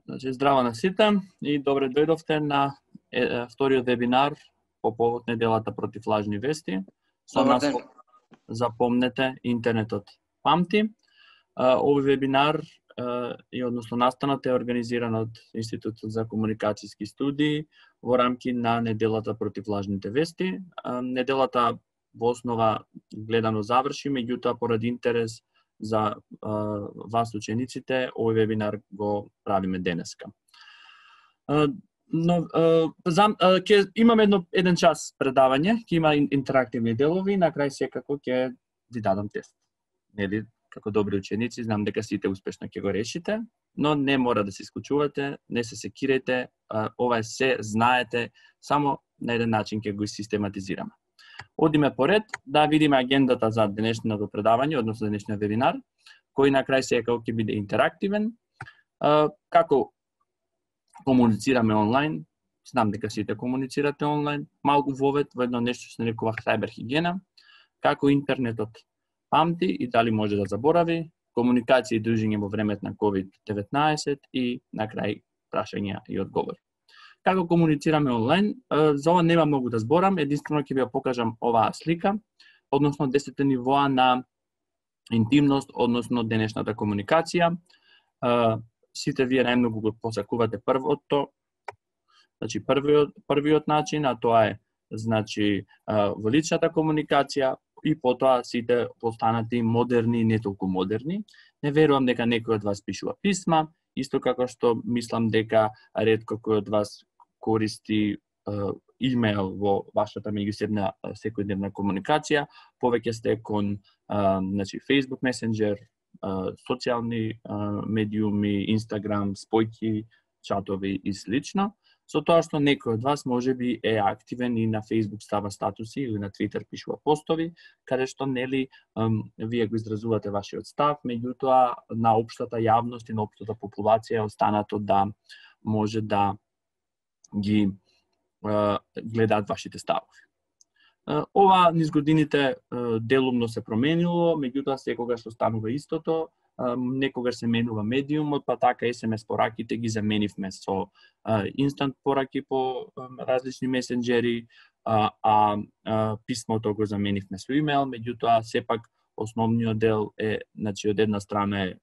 Значи, здраво на сите и добре дојдовте на вториот вебинар по повод неделата против лажни вести. Со нас запомнете, интернетот памти. Овој вебинар и односно настанот е организиран од Институтот за комуникацијски студии во рамки на неделата против лажните вести. Неделата во основа гледано заврши, меѓутоа поради интерес за вас учениците, овој вебинар го правиме денеска. Но ќе имаме еден час предавање, ќе има интерактивни делови, на крај секако ќе ви дадам тест. Нели, како добри ученици, знам дека сите успешно ќе го решите, но не мора да се исклучувате, не се секирете, ова е се знаете, само на еден начин ќе го систематизираме. Одиме поред да видиме агендата за денешното предавање, односно денешниот вебинар, кој на крај секако ќе биде интерактивен. Како комуницираме онлайн, знам дека сите комуницирате онлайн, малку вовед во едно нешто што се нарекува сајберхигиена, како интернетот памти и дали може да заборави, комуникација и дружење во времето на COVID-19 и на крај прашања и одговори. Како комуницираме онлайн, за ова нема многу да зборам, единствено ќе ви ја покажам оваа слика, односно 10 нивоа на интимност, односно денешната комуникација. Сите вие најмногу го посакувате првото, значи првиот начин, а тоа е значи во личната комуникација и потоа сите постанати модерни и не толку модерни. Не верувам дека некој од вас пишува писма, исто како што мислам дека ретко кој од вас користи имейл во вашата меѓусебна секојдневна комуникација, повеќе сте кон значи Facebook Messenger, социјални медиуми, Instagram, спојки, чатови и слично. Со тоа што некој од вас можеби е активен и на Facebook става статуси или на Twitter пишува постови, каде што нели вие го изразувате вашиот став, меѓутоа на општата јавност и на општата популација е останато да може да ги гледаат вашите ставови. Ова низ годините делумно се променило, меѓутоа секогаш останува истото. Некогаш се менува медиумот, па така SMS пораките ги заменивме со инстант пораки по различни месенџери, писмото го заменивме со имейл, меѓутоа сепак основниот дел е, значи од една страна е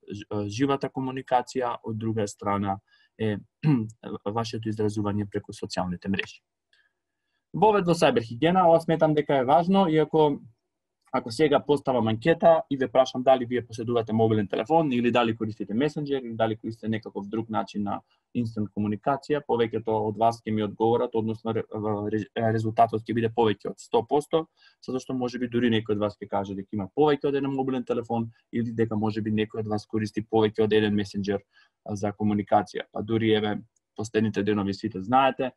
живата комуникација, од друга страна е вашето изразување преку социјалните мрежи. Вовед во сајберхигиена, ова сметам дека е важно, иако ако сега поставам анкета и ве прашам дали вие поседувате мобилен телефон или дали користите месенџер или дали користите некаков друг начин на инстант комуникација, повеќето од вас ќе ми одговорат, односно резултатот ќе биде повеќе од 100%, затоа што можеби дури некој од вас ќе каже дека има повеќе од еден мобилен телефон или дека можеби некој од вас користи повеќе од еден месенџер за комуникација. Па дури еве последните денови сите знаете,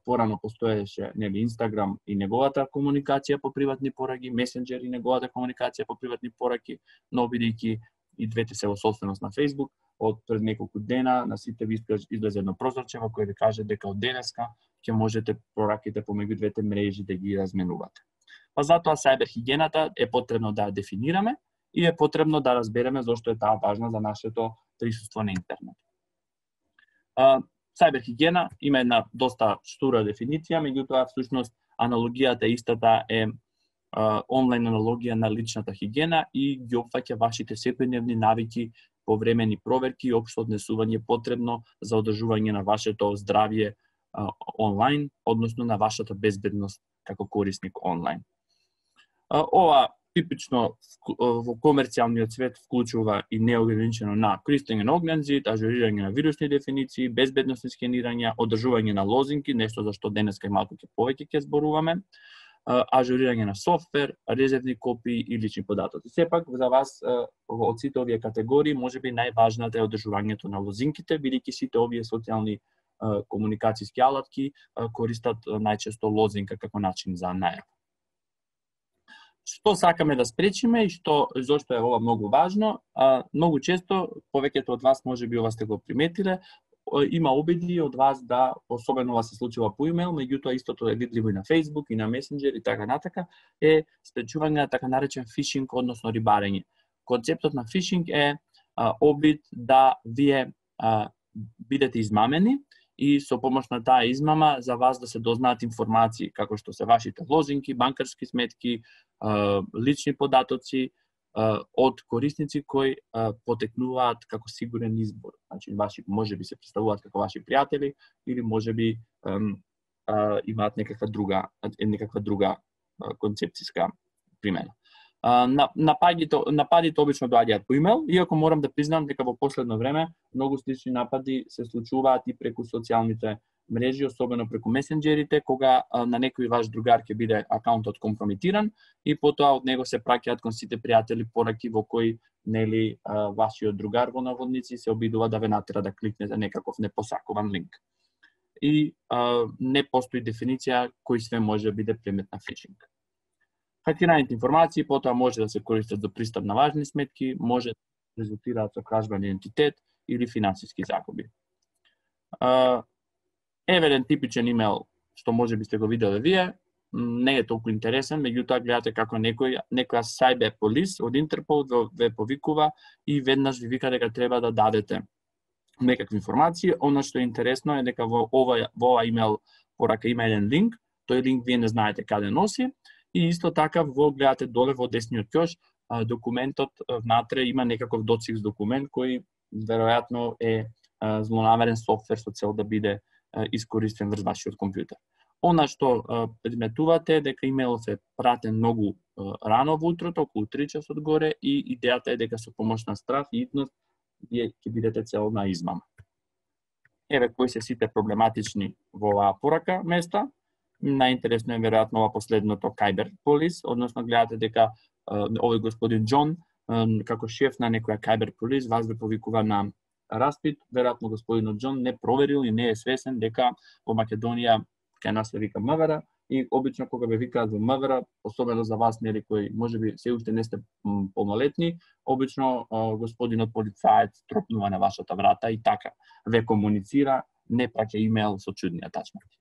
порано постоеше нели Инстаграм и неговата комуникација по приватни пораки, месенџер и неговата комуникација по приватни пораки, но бидејќи и двете се во собственост на Facebook, од пред неколку дена на сите ви излезе едно прозорче во кое ви каже дека од денеска ќе можете пораките помеѓу двете мрежи да ги разменувате. Па затоа сајберхигиената е потребно да ја дефинираме и е потребно да разбереме зошто е таа важна за нашето присуство на интернет. Сајберхигиена има една доста штура дефиниција, меѓутоа всушност аналогијата истата е онлайн аналогија на личната хигиена и ги опфаќа вашите секојдневни навики, повремени проверки и општо однесување потребно за одржување на вашето здравје онлайн, односно на вашата безбедност како корисник онлайн. Ова типично во комерцијалниот свет вклучува и неограничено на користење на огнензид, ажурирање на вирусни дефиниции, безбедносни скенирања, одржување на лозинки, нешто за што денеска и малку повеќе ќе зборуваме, ажурирање на софтвер, резервни копии и лични податоци. Сепак за вас од сите овие категории можеби најважната е одржувањето на лозинките, бидејќи сите овие социјални комуникацијски алатки користат најчесто лозинка како начин за најава. Што сакаме да спречиме и зошто е ова многу важно? Многу често, повеќето од вас можеби ова сте го приметиле, има обиди од вас да, особено ова се случува по имейл, меѓутоа истото е видливо и на Facebook, и на Messenger и така натака, е спречување на така наречен фишинг, односно рибарење. Концептот на фишинг е обид да вие бидете измамени и со помош на таа измама за вас да се дознаат информации како што се вашите лозинки, банкарски сметки, лични податоци од корисници кои потекнуваат како сигурен избор. Значи, можеби се представуваат како ваши пријатели или можеби имаат некаква друга концепцијска примена. Нападите обично доаѓаат по имејл, иако морам да признам дека во последно време многу слични напади се случуваат и преку социјалните мрежи, особено преку месенџерите, кога на некој ваш другар ќе биде акаунтот компрометиран и потоа од него се праќаат кон сите пријатели пораки во кои вашиот другар во наводници се обидува да ве натера да кликнете некаков непосакуван линк. И не постои дефиниција кој све може да биде предмет на фишинг. Хакираните информации потоа може да се користат за пристап на важни сметки, може да резултираат со кражба на идентитет или финансиски загуби. Еве еден типичен имејл што може би сте го виделе вие, не е толку интересен, меѓутоа гледате како некоја cyber police од Интерпол ве повикува и веднаш ви вика дека треба да дадете некакви информации. Она што е интересно е дека во оваа имејл порака има еден линк, тој линк вие не знаете каде носи и исто така гледате доле во десниот ќош, документот внатре има некаков доцикс документ кој веројатно е злонамерен софтвер со цел да биде искористен врз вашиот компјутер. Она што приметувате е дека имејлот е пратен многу рано во утрото, околу 3 часот горе, и идејата е дека со помош на страф и итност вие ќе бидете цел на измама. Еве кои се сите проблематични во оваа порака места. Најинтересно е веројатно ова последното Cyber Police, односно гледате дека овој господин Џон како шеф на некоја Cyber Police вас ве повикува на распит. Веројатно господинот Џон не проверил и не е свесен дека во Македонија кај нас се вика МВР и обично кога ве викаат во МВР, особено за вас нели кои можеби се уште не сте полнолетни, обично господинот полицаец тропнува на вашата врата и така ве комуницира, не праќа имејл со чудни атачменти.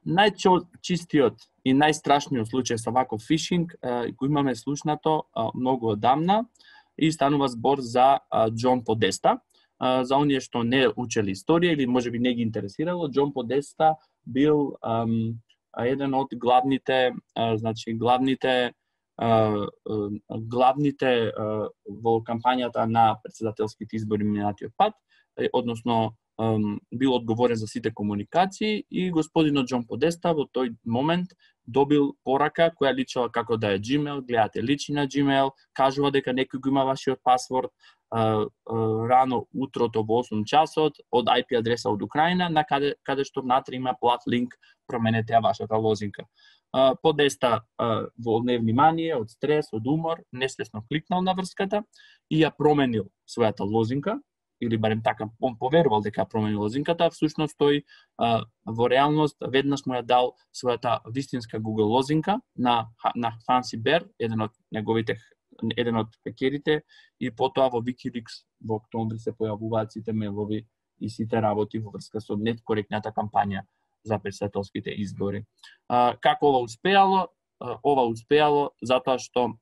Најчистиот и најстрашниот случај со ваков фишинг го имаме слушнато многу одамна и станува збор за Џон Подеста. За оние што не учели историја или можеби не ги интересирало, Џон Подеста бил еден од главните во кампањата на претседателските избори минатиот пат, односно бил одговорен за сите комуникации и господинот Џон Подеста во тој момент добил порака која личала како да е Gmail, гледате личи на Gmail, кажува дека некој го има вашиот пасворд, рано утрото во 8 часот од IP адреса од Украина, на каде што внатре има плат линк, променете ја вашата лозинка. Подеста во невнимание, од стрес, од умор, несвесно кликнал на врската и ја променил својата лозинка, или барем така, он поверувал дека променил лозинката, всушност тој во реалност веднаш му ја дал својата вистинска Google лозинка на Fancy Bear, еден од хакерите, и потоа во WikiLeaks во октомври се појавуваат сите мејлови и сите работи во врска со неткоректната кампања за претседателските избори. Како ова успеало? Ова успеало затоа што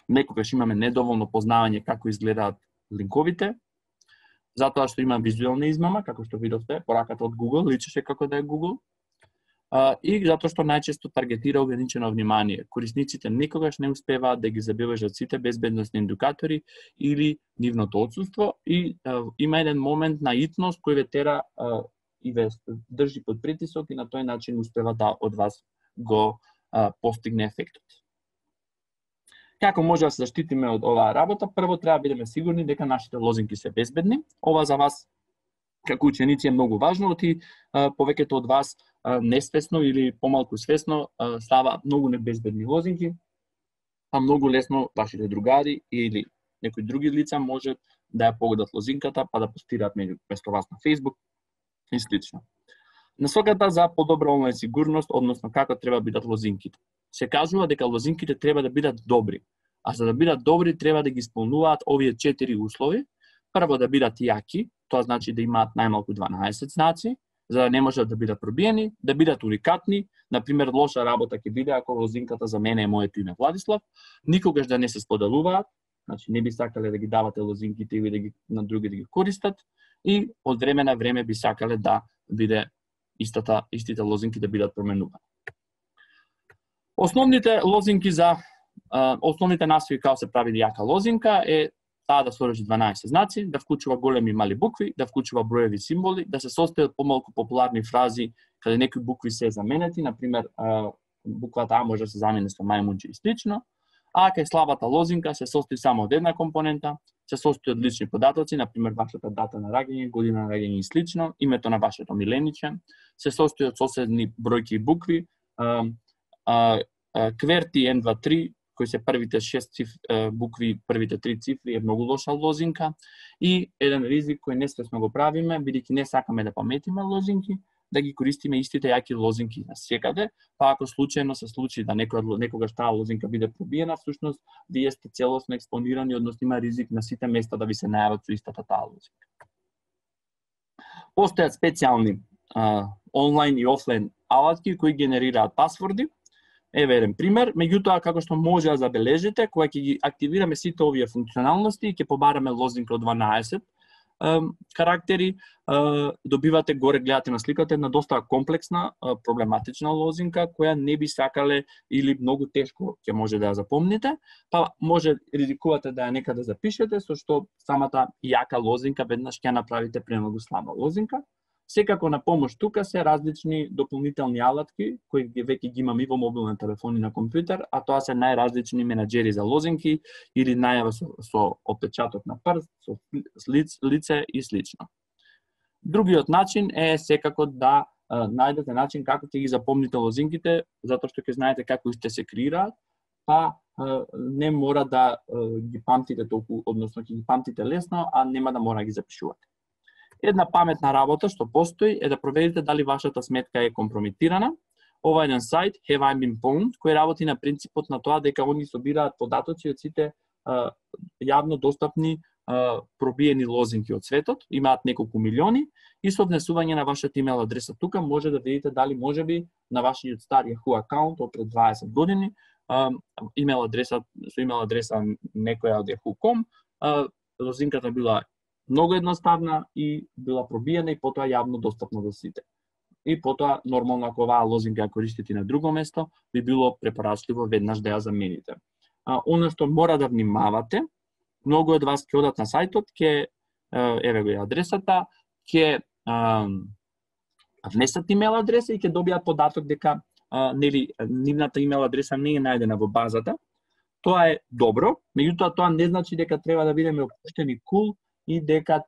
некогаш имаме недоволно познавање како изгледаат линковите, затоа што има визуелна измама, како што видовте, пораката од Google личеше како да е Google, и затоа што најчесто таргетира ограничено внимание. Корисниците никогаш не успеваат да ги забележат сите безбедносни индикатори или нивното отсуство и има еден момент на итност кој ве тера и ве држи под притисок и на тој начин успева да од вас го постигне ефектот. Како може да се заштитиме од оваа работа? Прво треба да бидеме сигурни дека нашите лозинки се безбедни. Ова за вас како ученици е многу важно, и повеќето од вас несвесно или помалку свесно става многу небезбедни лозинки, а многу лесно вашите другари или некои други лица може да ја погодат лозинката па да постираат место вас на Facebook и слично. Насоката за подобра онлайн сигурност, односно како треба да бидат лозинките. Се кажува дека лозинките треба да бидат добри, а за да бидат добри треба да ги исполнуваат овие 4 услови. Прво да бидат јаки, тоа значи да имаат најмалку 12 знаци, за да не можат да бидат пробиени, да бидат уникатни, например лоша работа ќе биде ако лозинката за мене е моето име Владислав, никогаш да не се споделуваат, значи не би сакале да ги давате лозинките или да ги на други да ги користат, и од време на време би сакале да биде истите лозинки да бидат променувани. Основните лозинки за основните насои како се прави јака лозинка е таа да содржи 12 знаци, да вклучува големи и мали букви, да вклучува броеви символи, да се состои од помалку популарни фрази каде некои букви се заменети, например буквата А може да се замени со мајмунче и слично, а кај слабата лозинка се состои само од една компонента, се состои од лични податоци, например вашата дата на раѓање, година на раѓање и слично, името на вашето милениче, се состои од соседни бројки и букви, кверти 1, 2, 3, кои се првите 6 букви, првите 3 цифри е многу лоша лозинка, и еден ризик кој несвесно го правиме, бидејќи не сакаме да паметиме лозинки, да ги користиме истите јаки лозинки на секаде, па ако случајно се случи да некогаш таа лозинка биде пробиена, всушност вие сте целосно експонирани, односно има ризик на сите места да ви се најават со истата таа лозинка. Постојат специјални онлайн и офлайн алатки кои генерираат пасворди. Еве еден пример, меѓутоа како што може да забележите, кога ќе ги активираме сите овие функционалности и ќе побараме лозинка од 12 карактери, добивате горе, гледате на сликата, една доста комплексна, проблематична лозинка, која не би сакале или многу тешко ќе може да ја запомните, па може ризикувате да ја некаде запишете, со што самата јака лозинка веднаш ќе направите премногу слаба лозинка. Секако на помош тука се различни дополнителни алатки кои веќе ги имаме и во мобилни телефони на компјутер, а тоа се најразлични менаџери за лозинки или најава со отпечаток на прст, со лице и слично. Другиот начин е секако да најдете начин како ќе ги запомните лозинките, затоа што ќе знаете како истите се креираат, па не мора да ги памтите толку, односно ќе ги памтите лесно, а нема да мора да ги запишувате. Една паметна работа што постои е да проверите дали вашата сметка е компрометирана. Ова е еден сајт, Have I Been Pwned, кој работи на принципот на тоа дека они собираат податоци од сите јавно достапни пробиени лозинки од светот, имаат неколку милиони, и со внесување на вашата имейл адреса тука може да видите дали можеби на вашиот стар Yahoo акаунт од пред 20 години, имейл адреса некоја од Yahoo.com, лозинката била многу едноставна и била пробиена и потоа јавно достапна за сите. И потоа, нормално, ако оваа лозинка ја користите на друго место, би било препорачливо веднаш да ја замените. Оно што мора да внимавате, многу од вас ќе одат на сајтот, еве го ја адресата, ќе внесат имейл адреса и ќе добијат податок дека нивната имейл адреса не е најдена во базата. Тоа е добро, меѓутоа тоа не значи дека треба да бидеме опуштени кул, и дека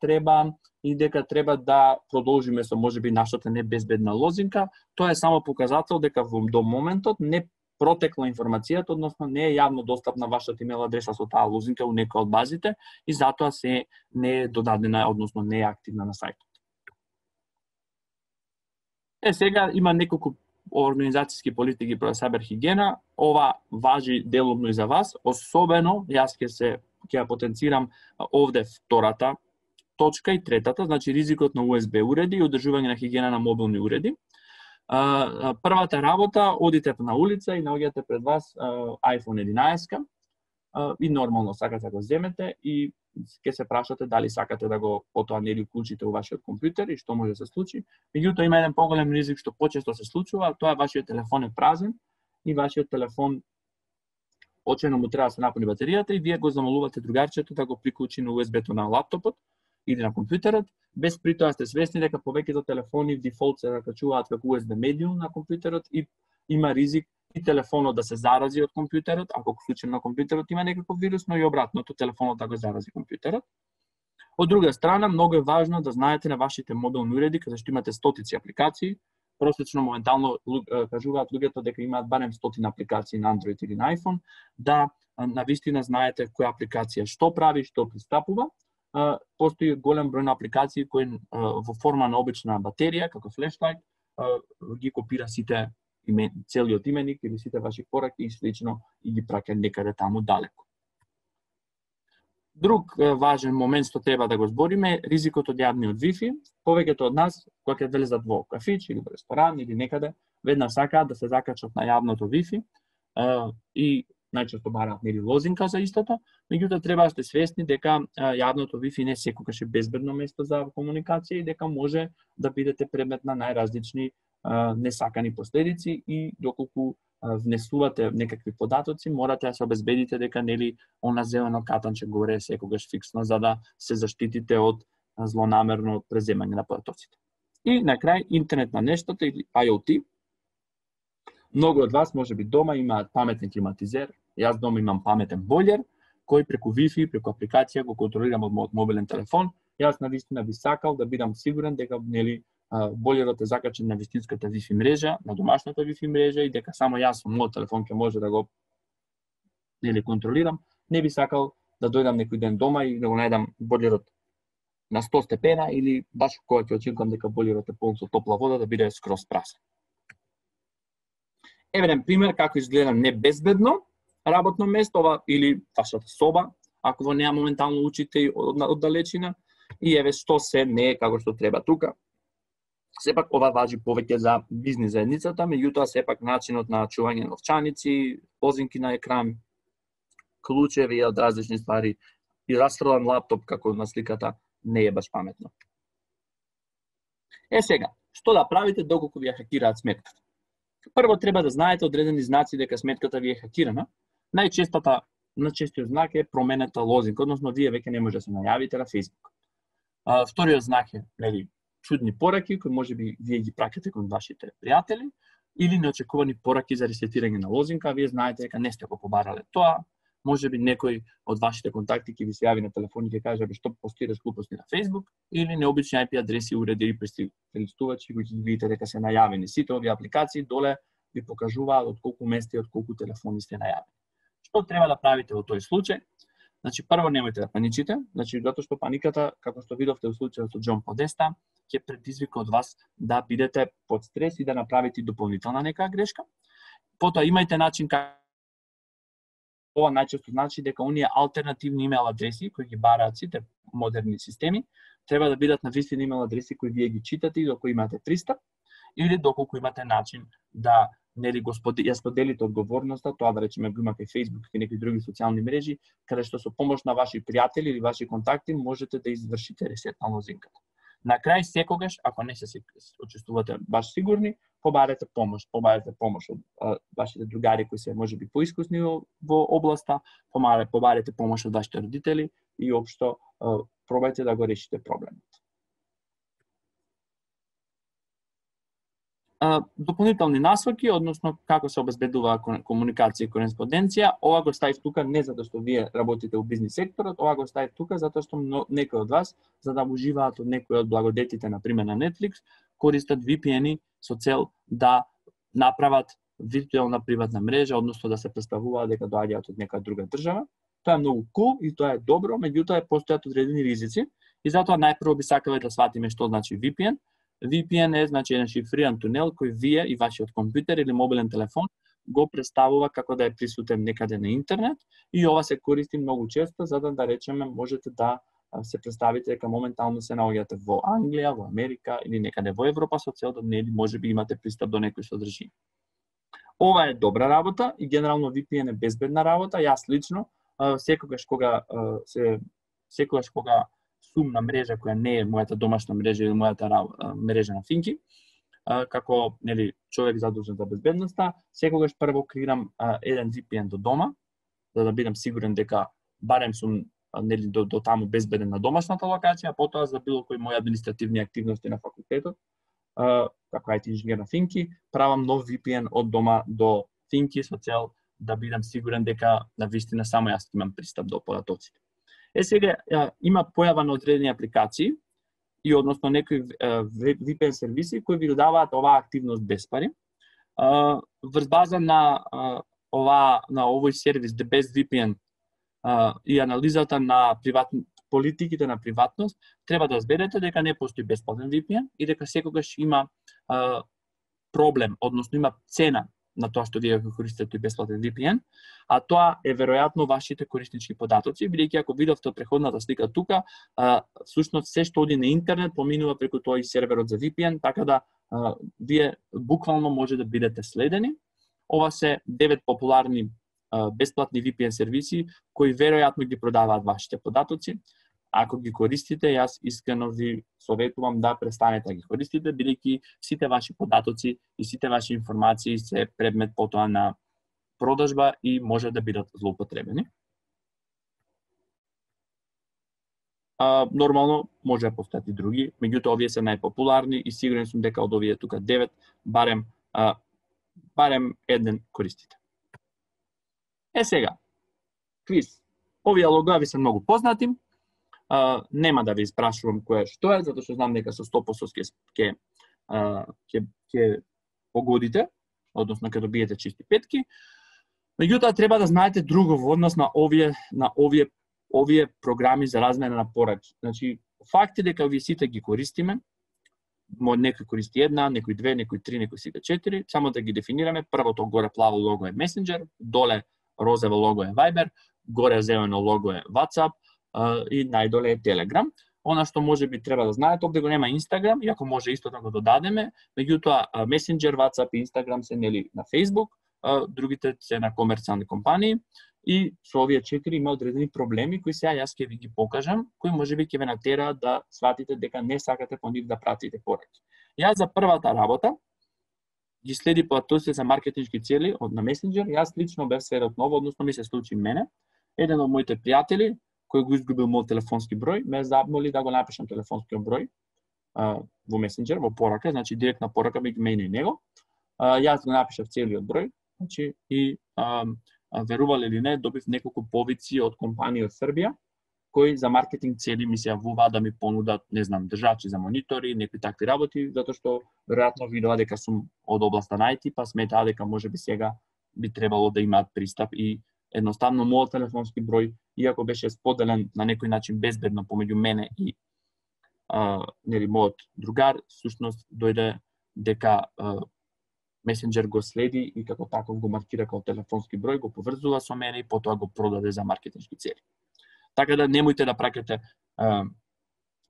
треба да продолжиме со можеби нашата небезбедна лозинка. Тоа е само показател дека до моментот не протекла информацијата, односно не е јавно достапна вашата имейл адреса со таа лозинка у некоја од базите и затоа се не е додадена, односно не е активна на сајтот. Сега има неколку организацијски политики про саберхигиена. Ова важи делумно и за вас, особено јас ќе ја потенцирам овде втората точка и третата, значи ризикот на USB уреди и одржување на хигиена на мобилни уреди. Првата работа, одите на улица и наоѓате пред вас iPhone 11 и нормално сакате да го земете и ќе се прашате дали сакате да го потоа нели уклучите у вашиот компјутер и што може да се случи. Меѓутоа има еден поголем ризик што почесто се случува, тоа е вашиот телефон е празен и вашиот телефон очено му треба да се напуни батеријата и вие го замолувате другарчето да го приклучи на USB-то на лаптопот или на компјутерот, без при тоа сте свесни дека повеќето телефони дефолт се закачуваат како USB медиум на компјутерот и има ризик и телефонот да се зарази од компјутерот, ако случајно на компјутерот има некаков вирус, но и обратното, телефонот да го зарази компјутерот. Од друга страна, многу е важно да знаете на вашите мобилни уреди, каде што имате стотици апликации, просечно моментално кажуваат луѓето дека имаат барем 100 апликации на Android или на iPhone, да навистина знаете која апликација што прави, што пристапува. Постои голем број на апликации кои во форма на обична батерија, како флешлайт, ги копира сите целиот именик или сите ваши пораки и слично и ги праќа некаде таму далеко. Друг важен момент што треба да го збориме е ризикот од јавниот Wi-Fi. Повеќето од нас, кога ќе влезат во кафич или во ресторан или некаде, веднаш сакаат да се закачат на јавното Wi-Fi и најчесто бараат нели лозинка за истото, меѓутоа треба да сте свесни дека јавното Wi-Fi не секогаш е безбедно место за комуникација и дека може да бидете предмет на најразлични несакани последици и доколку внесувате некакви податоци, морате да се обезбедите дека нели она зелено катанче горе е секогаш фиксно за да се заштитите од злонамерно преземање на податоците. И на крај интернет на нештата или IoT. Многу од вас можеби дома имаат паметен климатизер, јас дома имам паметен бойлер кој преку Wi-Fi, преку апликација го контролирам од мојот мобилен телефон. Јас навистина би сакал да бидам сигурен дека нели бойлерот е закачен на вистинската Wi-Fi мрежа, на домашната Wi-Fi мрежа и дека само јас со мојот телефон ќе може да го нели контролирам. Не би сакал да дојдам некој ден дома и да го најдам бойлерот на 100 степена или баш кога ќе очекувам дека бойлерот е полн со топла вода да биде скроз празен. Евен пример како изгледа небезбедно работно место или вашата соба, ако во неа моментално учите од далечина, и еве што се не е како што треба тука. Сепак ова важи повеќе за бизнис заедницата, меѓутоа сепак начинот на чување новчаници, лозинки на екран, клучеви од различни ствари и расфрлан лаптоп како на сликата не е баш паметно. Сега, што да правите доколку ви ја хакираат сметката? Прво треба да знаете одредени знаци дека сметката ви е хакирана. Најчестиот знак е променета лозинка, односно вие веќе не може да се најавите на Facebook. Вториот знак е нели чудни пораки кои можеби вие ги праќате кон вашите пријатели или неочекувани пораки за ресетирање на лозинка, вие знаете дека не сте го побарале тоа. Можеби некој од вашите контакти ќе ви се јави на телефон и ќе каже што постираш глупости на Facebook или необични IP адреси уреди и прелистувачи кои ќе видите дека се најавени. Сите овие апликации доле ви покажуваат од колку места и од колку телефони сте најавени. Што треба да правите во тој случај? Значи прво немојте да паничите, затоа што паниката, како што видовте во случајот со Џон Подеста, ќе предизвика од вас да бидете под стрес и да направите дополнителна нека грешка. Потоа имајте начин ова најчесто значи дека оние алтернативни имейл адреси кои ги бараат сите модерни системи треба да бидат на вистина имейл адреси кои вие ги читате и до кои имате пристап или доколку имате начин да нели ја споделите одговорноста, тоа да речеме го имате Facebook и некои други социјални мрежи, каде што со помош на ваши пријатели или ваши контакти можете да извршите ресет на лозинката. На крај секогаш, ако не се почувствувате баш сигурни, побарете помош од вашите другари кои се можеби поискусни во областа, побарете помош од вашите родители и општо пробајте да го решите проблемот. Дополнителни насоки, односно како се обезбедува комуникација и кореспонденција, ова го ставив тука не затоа што вие работите во бизнис секторот, ова го ставив тука затоа што некои од вас, за да уживаат од некои од благодетите, например на Netflix, користат VPN-и со цел да направат виртуелна приватна мрежа, односно да се представуваат дека доаѓаат од нека друга држава. Тоа е многу cool и тоа е добро, меѓутоа постојат одредени ризици и затоа најпрво би сакале да сватиме што значи VPN. VPN е значи еден шифриран тунел кој вие и вашиот компјутер или мобилен телефон го представува како да е присутен некаде на интернет и ова се користи многу често за да речеме можете да се представите дека моментално се наоѓате во Англија, во Америка или некаде во Европа со цел да нели можеби имате пристап до некој содржина. Ова е добра работа и генерално VPN е безбедна работа. Јас лично секогаш кога сум на мрежа која не е мојата домашна мрежа или мојата мрежа на Финки, како нели човек задолжен за безбедноста, секогаш прво креирам еден VPN до дома, за да бидам сигурен дека барем сум нели до таму безбеден на домашната локација, а потоа за било кои мои административни активности на факултетот, како IT инженер на Финки, правам нов VPN од дома до Финки со цел да бидам сигурен дека на вистина само јас имам пристап до податоците. Сега има појава на одредени апликации и односно некои VPN сервиси кои ви додаваат оваа активност без пари. Врз база на овој сервис The Best VPN и анализата на политиките на приватност, треба да разберете дека не постои бесплатен VPN и дека секогаш има проблем, односно има цена на тоа што вие користите тој бесплатен VPN, а тоа е веројатно вашите кориснички податоци, бидејќи ако видовте од претходната слика тука, всушност се што оди на интернет поминува преку тој серверот за VPN, така да вие буквално може да бидете следени. Ова се 9 популарни бесплатни VPN сервиси кои веројатно ги продаваат вашите податоци. Ако ги користите, јас искрено ви советувам да престанете да ги користите, бидејќи сите ваши податоци и сите ваши информации се предмет потоа на продажба и може да бидат злоупотребени. Нормално може да постојат и други, меѓутоа овие се најпопуларни и сигурен сум дека од овие тука 9 барем еден користите. Сега, квиз. Овие логоа ви се многу познати. Нема да ви испрашувам кој е што е, затоа што знам дека со 100% ќе погодите, односно ќе добиете чисти петки. Меѓутоа треба да знаете друго во однос на овие програми за размена на пораки. Значи, факт е дека овие сите ги користиме. Некој користи една, некој две, некој три, некој сите 4. Само да ги дефинираме. Првото горе плаво лого е Messenger, доле розово лого е Viber, горе зелено лого е WhatsApp и најдоле е Telegram. Она што може би треба да знаете, овде го нема Instagram, иако може исто да го додадеме, меѓутоа Messenger, WhatsApp и Instagram се нели на Facebook, другите се на комерцијални компании и со овие 4 има одредени проблеми кои сега јас ќе ви ги покажам, кои можеби ќе ве натераат да сватите дека не сакате по нив да пратите пораки. Јас за првата работа ги следи податоците за маркетиншки цели од на Messenger, јас лично бев сведок ново, односно ми се случи мене. Еден од моите пријатели кој го изгубил мој телефонски број, ме замоли да го напишам телефонскиот број во Messenger, во порака, значи директна порака меѓу мене и него. Јас го напишав целиот број, значи и верувале или не, добив неколку повици од компании од Србија кои за маркетинг цели ми се јавуваат да ми понудат, не знам, држачи за монитори, некои такви работи, затоа што веројатно видоа дека сум од областа на IT, па сметаа дека можеби сега би требало да имаат пристап и едноставно мојот телефонски број, иако беше споделен на некој начин безбедно помеѓу мене и нели мојот другар, всушност дојде дека Messenger го следи и како таков го маркира како телефонски број, го поврзува со мене и потоа го продаде за маркетиншки цели. Така да немојте да праќате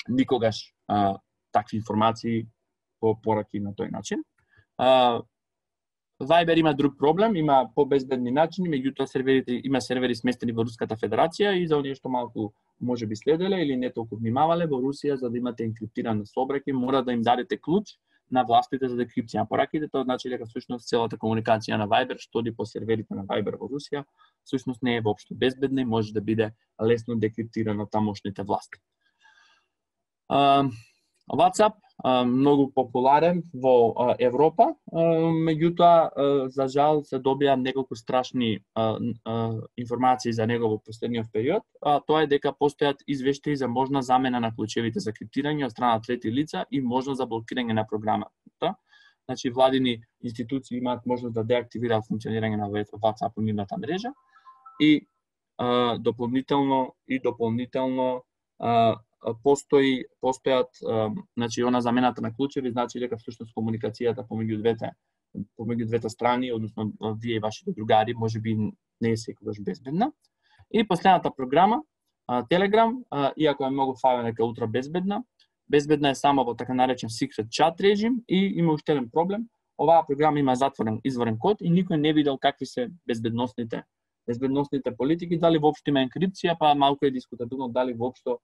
никогаш такви информации по пораки на тој начин. Viber има друг проблем, има побезбедни начини, меѓутоа има сервери сместени во Руската Федерација и за оние што малку можеби следеле или не толку внимавале, во Русија за да имате енкриптиран сообраќај мора да им дадете клуч на властите за декрипција на пораките. Тоа значи дека всушност целата комуникација на Viber што оди по серверите на Viber во Русија всушност не е воопшто безбедна и може да биде лесно декриптирана од тамошните власти. WhatsApp многу популарен во Европа, меѓутоа за жал се добија неколку страшни информации за него во последниот период. Тоа е дека постојат извештаи за можна замена на клучевите за криптирање од страна трети лица и можност за блокирање на програмата. Значи владини институции имаат можност да деактивираат функционирање на WhatsApp и нивната мрежа и дополнително постојат, значи она замената на клучеви значи дека всушност комуникацијата помеѓу двете страни, односно вие и вашите другари, можеби не е секогаш безбедна. И последната програма, Telegram, иако е многу фалена дека е ултра безбедна е само во така наречен secret chat режим и има уште еден проблем. Оваа програма има затворен изворен код и никој не видел какви се безбедносните политики, дали воопшто има енкрипција, па малку е дискутабилно дали воопшто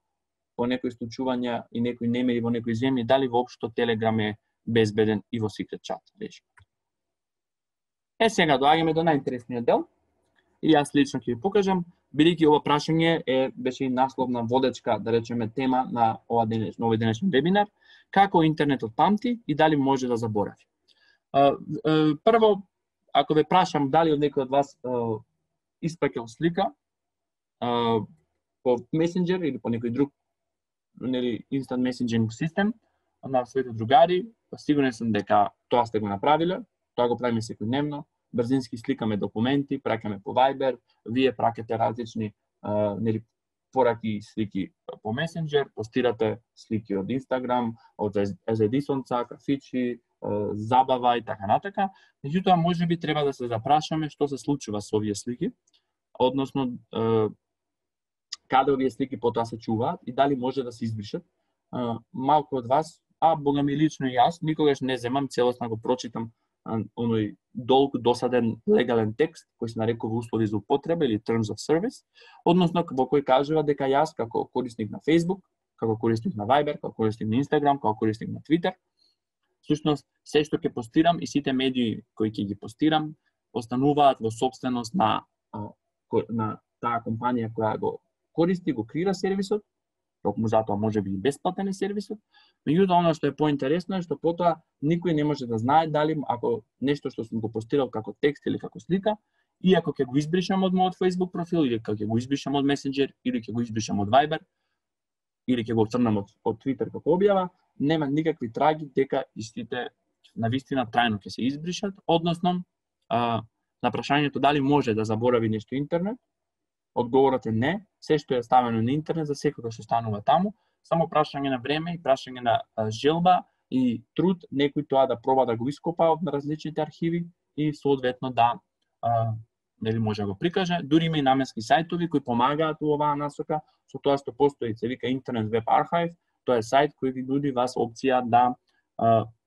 по некои случувања и некои немери во некои земји, дали воопшто Telegram е безбеден и во secret chat режим. Сега доаѓаме до најинтересниот дел и јас лично ќе ви покажам, бидејќи ова прашање беше и насловна водечка, да речеме, тема на овој денешен вебинар, како интернетот памти и дали може да заборави. Прво, ако ве прашам дали од некој од вас испраќал слика по Messenger или по некој друг instant messaging систем на своите другари, сигурен сум дека тоа сте го направиле, тоа го правиме секојдневно, брзински сликаме документи, праќаме по Viber, вие праќате различни пораки и слики по Messenger, постирате слики од Instagram, од езедисонца, кафичи, забава и така натака. Меѓутоа, можеби треба да се запрашаме што се случува со овие слики, односно каде овие слики потоа се чуваат и дали може да се избришат. Малку од вас, бога ми лично и јас, никогаш не земам целосно го прочитам оној долг досаден легален текст кој се нарекува услови за употреба или terms of service, односно во кој кажува дека јас како корисник на Facebook, како корисник на Viber, како корисник на Instagram, како корисник на Twitter, всушност се што ќе постирам и сите медии кои ќе ги постирам остануваат во сопственост на таа компанија која го користи, го креира сервисот, токму затоа можеби и бесплатен е сервисот. Меѓутоа, она што е поинтересно е што потоа никој не може да знае дали ако нешто што сум го постирал како текст или како слика, и ако ќе го избришам од мојот Facebook профил или ќе го избришам од Messenger или ќе го избришам од Viber или ќе го црнам од Twitter како објава, нема никакви траги дека истите навистина трајно ќе се избришат, односно на прашањето дали може да заборави нешто интернет, одговорот е не, се што е ставено на интернет за секој што станува таму, само прашање на време и прашање на желба и труд некој тоа да проба да го ископа од различните архиви и соодветно да нели може да го прикаже. Дури има и наменски сајтови кои помагаат во оваа насока, со тоа што постои се вика Internet Web Archive, тоа е сајт кој ви нуди вас опција да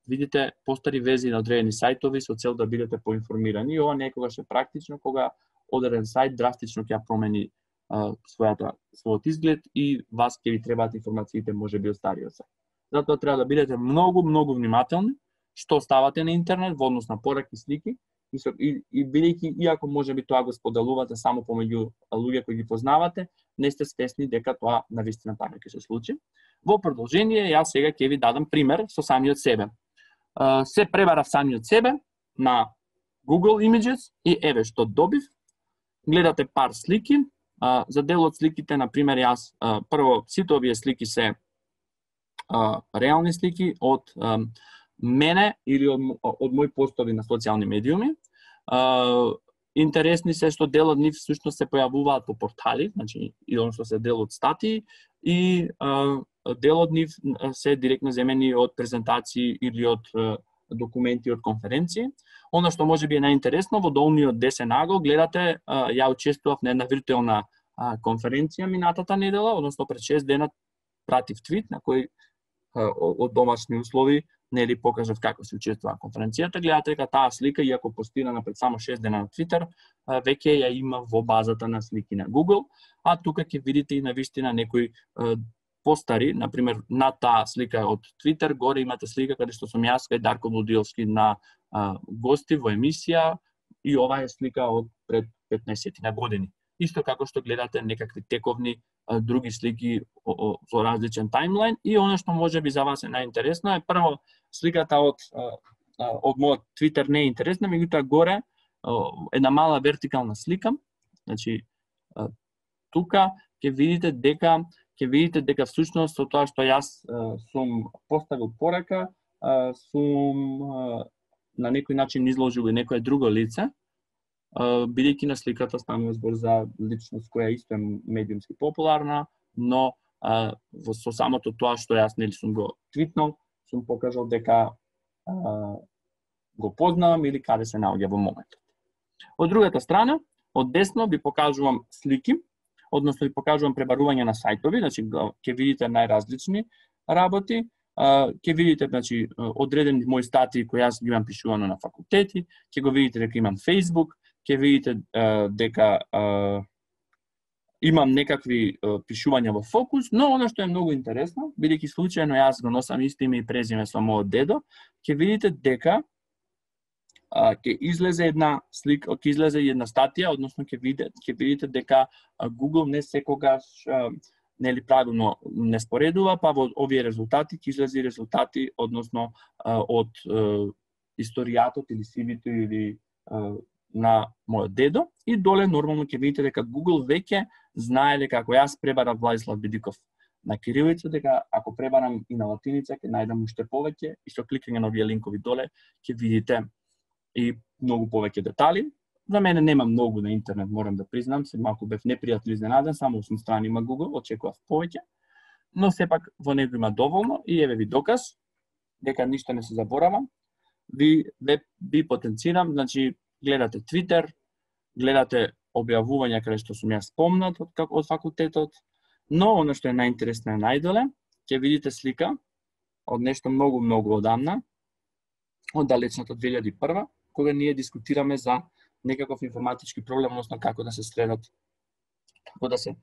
видите постари верзии на одредени сајтови со цел да бидете поинформирани. И ова некогаш е практично кога одреден сајт драстично ќе промени својот изглед и вас ќе ви требаат информациите можеби од стариот сајт. Затоа треба да бидете многу внимателни што ставате на интернет во однос на пораки, слики и бидејќи иако можеби тоа го споделувате само помеѓу луѓе кои ги познавате, не сте свесни дека тоа навистина така ќе се случи. Во продолжение, јас сега ќе ви дадам пример со самиот себе. Се пребарав самиот себе на Google Images и еве што добив. Гледате пар слики. За дел од сликите, например, јас прво сите овие слики се реални слики од мене или од мои постови на социјални медиуми. Интересни се што дел од нив всушност се појавуваат по портали, значи и он што се дел од статии и дел од нив се директно земени од презентации или од документи од конференции. Оно што може би е најинтересно, во долниот десен агол гледате, ја учествував на една виртуелна конференција минатата недела, односно пред 6 дена пратив твит на кој од домашни услови нели покажав како се учествува конференцијата. Гледате дека таа слика, иако постирана пред само 6 дена на Twitter, веќе ја има во базата на слики на Google, а тука ќе видите и навистина некои постари, например, на таа слика од Twitter, горе имате слика каде што сум јас кај Дарко Будилски на гости во емисија и ова е слика од пред 15 години. Исто како што гледате некакви тековни други слики со различен таймлайн и она што може би за вас е најинтересно е прво сликата од мојот Twitter не е интересна, меѓутоа горе една мала вертикална слика, значи тука ќе видите дека всушност со тоа што јас сум поставил порака, сум на некој начин изложил и некое друго лице, бидејќи на сликата станува збор за личност која исто е медиумски популарна, но со самото тоа што јас нели сум го твитнал, сум покажал дека го познавам или каде се наоѓа во моментот. Од другата страна, од десно ви покажувам слики, односно ви покажувам пребарување на сајтови, значи ќе видите најразлични работи, ќе видите значи одредени мои статии кои јас ги имам пишувано на факултети, ќе го видите дека имам Facebook, ќе видите дека имам некакви пишувања во фокус, но она што е многу интересно, бидејќи случајно јас го носам исто име и презиме со мојот дедо, ќе видите дека ќе излезе една слика, ќе излезе една статија, односно ќе видите дека Google не секогаш нели правилно не споредува, па во овие резултати ќе излезе резултати односно од историјатот или CV-то или на мојот дедо и доле нормално ќе видите дека Google веќе знае дека ако јас пребарам Владислав Бидиков на кирилица, дека ако пребарам и на латиница ќе најдам уште повеќе и со кликање на овие линкови доле ќе видите и многу повеќе детали. За мене нема многу на интернет, морам да признам, се малку бев непријатно изненаден, само 8 страни има Google, очекував повеќе, но сепак во него има доволно и еве ви доказ дека ништо не се заборава. Ви потенцирам, значи гледате Twitter, гледате објавувања каде што сум јас спомнат од факултетот, но она што е најинтересно е најдоле, ќе видите слика од нешто многу одамна, од далечната 2001, кога ние дискутираме за некаков информатички проблем, односно како да се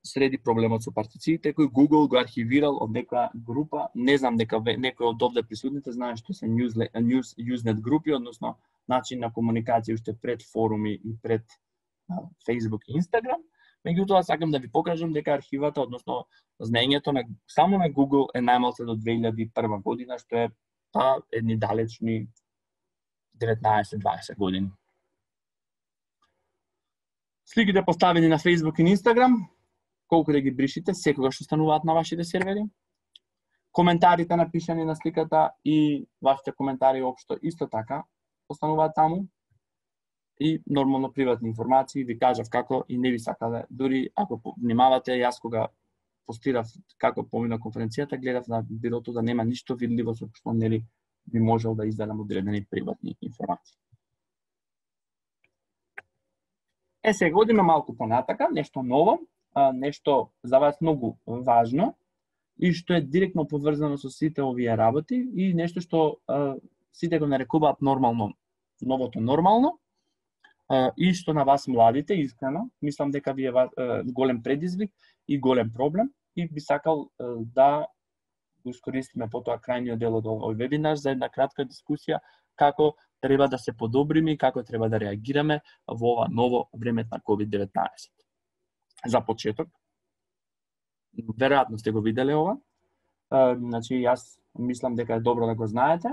среди проблемот со партициите, кој Google го архивирал од некоја група. Не знам дека некој од овде присутните знае што се Usenet групи, односно начин на комуникација уште пред форуми и пред Facebook и Instagram. Меѓутоа, сакам да ви покажам дека архивата, односно знаењето само на Google е најмалку до 2001 година, што е едни далечни 19-20 години. Сликите поставени на Facebook и Instagram, колку да ги бришите, секогаш остануваат на вашите сервери. Коментарите напишани на сликата и вашите коментари општо исто така остануваат таму. И нормално приватни информации, ви кажав како и не ви сакале. Дури ако внимавате, јас кога постирав како помина конференцијата, гледав на бирото да нема ништо видливо со што нели би можел да изделам одредени приватни информации. Сега одиме малку понатака, нешто ново, нешто за вас многу важно и што е директно поврзано со сите овие работи и нешто што сите го нарекуваат нормално, новото нормално, и што на вас младите, искрено, мислам дека ви е голем предизвик и голем проблем и би сакал да го искористиме потоа крајниот дел од овој вебинар за една кратка дискусија како треба да се подобриме и како треба да реагираме во ова ново време на COVID-19. За почеток, веројатно сте го виделе ова, значи јас мислам дека е добро да го знаете.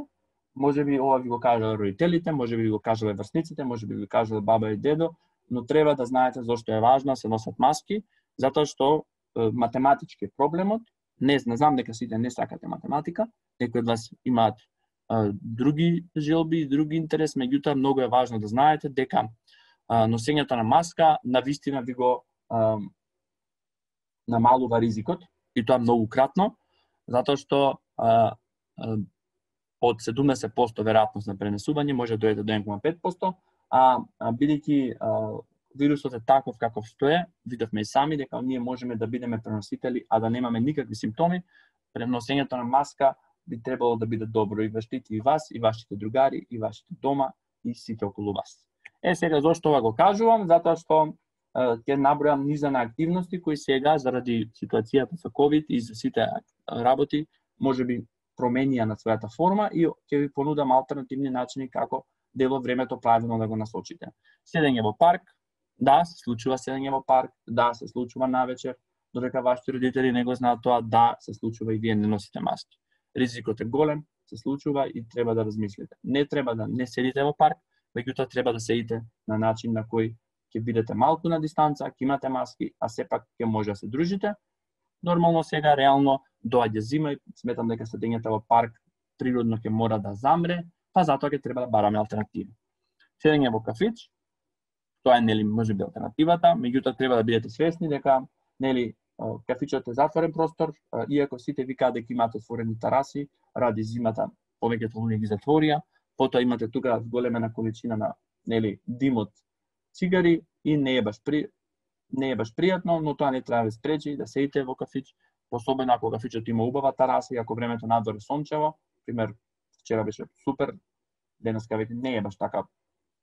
Може би ова ви го кажале родителите, може би ви го кажале врсниците, може би ви кажале баба и дедо, но треба да знаете зошто е важно да се носат маски, затоа што математички е проблемот. Не знам дека сите не сакате математика, некои од вас имаат други желби и други интерес, меѓутоа многу е важно да знаете дека носењето на маска навистина ви го намалува ризикот и тоа многу кратно, затоа што од 70% веројатност на пренесување може да дојде до 1,5%, бидејќи вирусот е таков каков што е, видовме и сами дека ние можеме да бидеме преносители, а да немаме никакви симптоми. Преносењето на маска би требало да биде добро и заштити и вас, и вашите другари, и вашите дома, и сите околу вас. Сега зошто ова го кажувам? Затоа што ќе набројам низа на активности кои сега заради ситуацијата со COVID и за сите работи можеби променија на својата форма и ќе ви понудам алтернативни начини како дело времето правилно да го насочите. Седење во парк, да, се случува седење во парк, да, се случува навечер, додека вашите родители не го знаат тоа, да, се случува и вие не носите маски. Ризикот е голем, се случува и треба да размислите. Не треба да не седите во парк, меѓутоа треба да седите на начин на кој ќе бидете малку на дистанца, ќе имате маски, а сепак ќе може да се дружите. Нормално сега, реално, доаѓа зима и сметам дека седењето во парк природно ќе мора да замре, па затоа ќе треба да бараме алтернативи. Седење во кафич, тоа е нели можеби алтернативата, меѓутоа треба да бидете свесни дека нели кафичот е затворен простор, иако сите викаат дека имаат отворени тараси, ради зимата повеќето луѓе ги затворија, потоа имате тука големена количина на нели дим од цигари и не е баш пријатно, но тоа не треба да спречи да седите во кафич, особено ако кафичот има убава тараса и ако времето надвор е сончево. Пример, вчера беше супер, денеска веќе не е баш така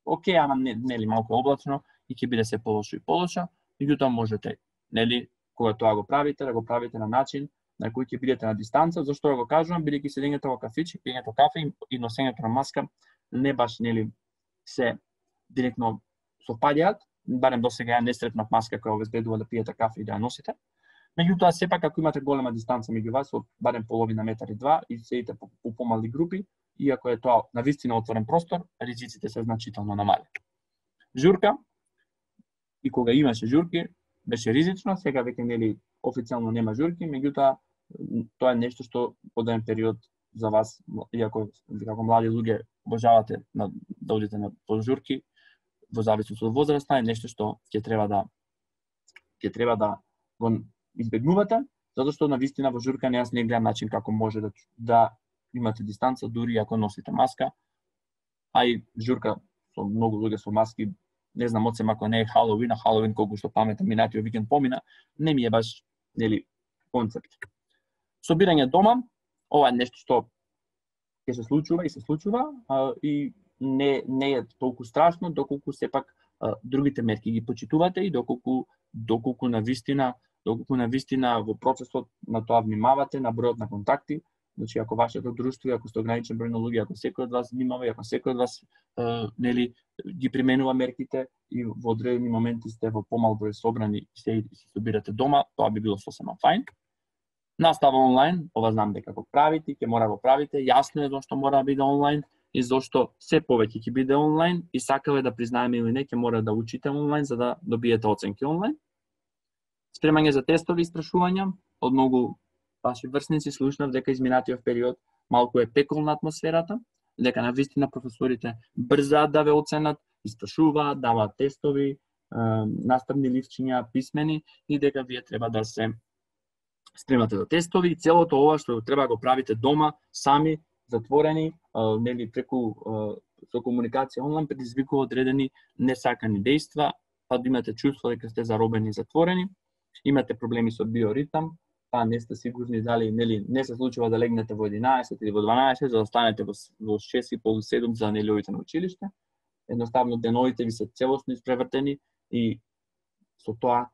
окей, ама нели малку облачно и ќе биде се полошо и полошо, меѓутоа можете, нели, кога тоа го правите, да го правите на начин на кој ќе бидете на дистанца. Зашто го кажувам? Бидејќи седењето во кафич, пиењето кафе и носењето на маска не баш нели се директно совпаѓаат, барем досега ја не сретнав маска која обезбедува да пиете кафе и да ја носите. Меѓутоа сепак ако имате голема дистанца меѓу вас, од барем половина метар и 2 и седите по помали групи, иако е тоа навистина отворен простор, ризиците се значително намалени. Журка, и кога имаше журки, беше ризично, сега веќе нели официјално нема журки, меѓутоа тоа е нешто што од еден период за вас, иако како млади луѓе обожавате да одите на журки, во зависност од возраста, е нешто што ќе треба да го избегнувате, затоа што навистина во журка јас не гледам начин како може да имате дистанца дури ако носите маска, а и журка со многу луѓе со маски, не знам одсем ако не е Халоуин, а Халоуин колку што паметам минатиот викенд помина, не ми е баш нели концепт. Собирање дома, ова е нешто што ќе се случува и се случува и не е толку страшно доколку сепак другите мерки ги почитувате и доколку навистина во процесот на тоа внимавате на бројот на контакти. Значи, ако вашето друштво, ако сте ограничен број на луѓе, ако секој од вас внимава и ако секој од вас нели ги применува мерките и во одредени моменти сте во помал број собрани и се собирате дома, тоа би било сосема фајн. Настава онлайн, ова знам дека го правите, ќе мора го правите, јасно е зашто мора да биде онлайн и зашто се повеќе ќе биде онлайн и сакаве да признаеме или не, ќе мора да учите онлайн за да добиете оценки онлайн. Спремање за тестови и истрашувања од многу ваши врсници, слушнав дека изминатиот период малку е пеколна атмосферата, дека навистина професорите брзаат да ве оценат, истрашуваат, даваат тестови, наставни листчиња, писмени и дека вие треба да се спремате за тестови и целото ова што треба да го правите дома, сами, затворени, нели преку со комуникација онлайн предизвикува одредени несакани дејства, па да имате чувство дека сте заробени и затворени, имате проблеми со биоритам, па не сте сигурни дали нели не се случува да легнете во 11 или во 12, за да станете во 6:30-7 за неделјовите на училиште. Едноставно деновите ви се целосно испревртени и со тоа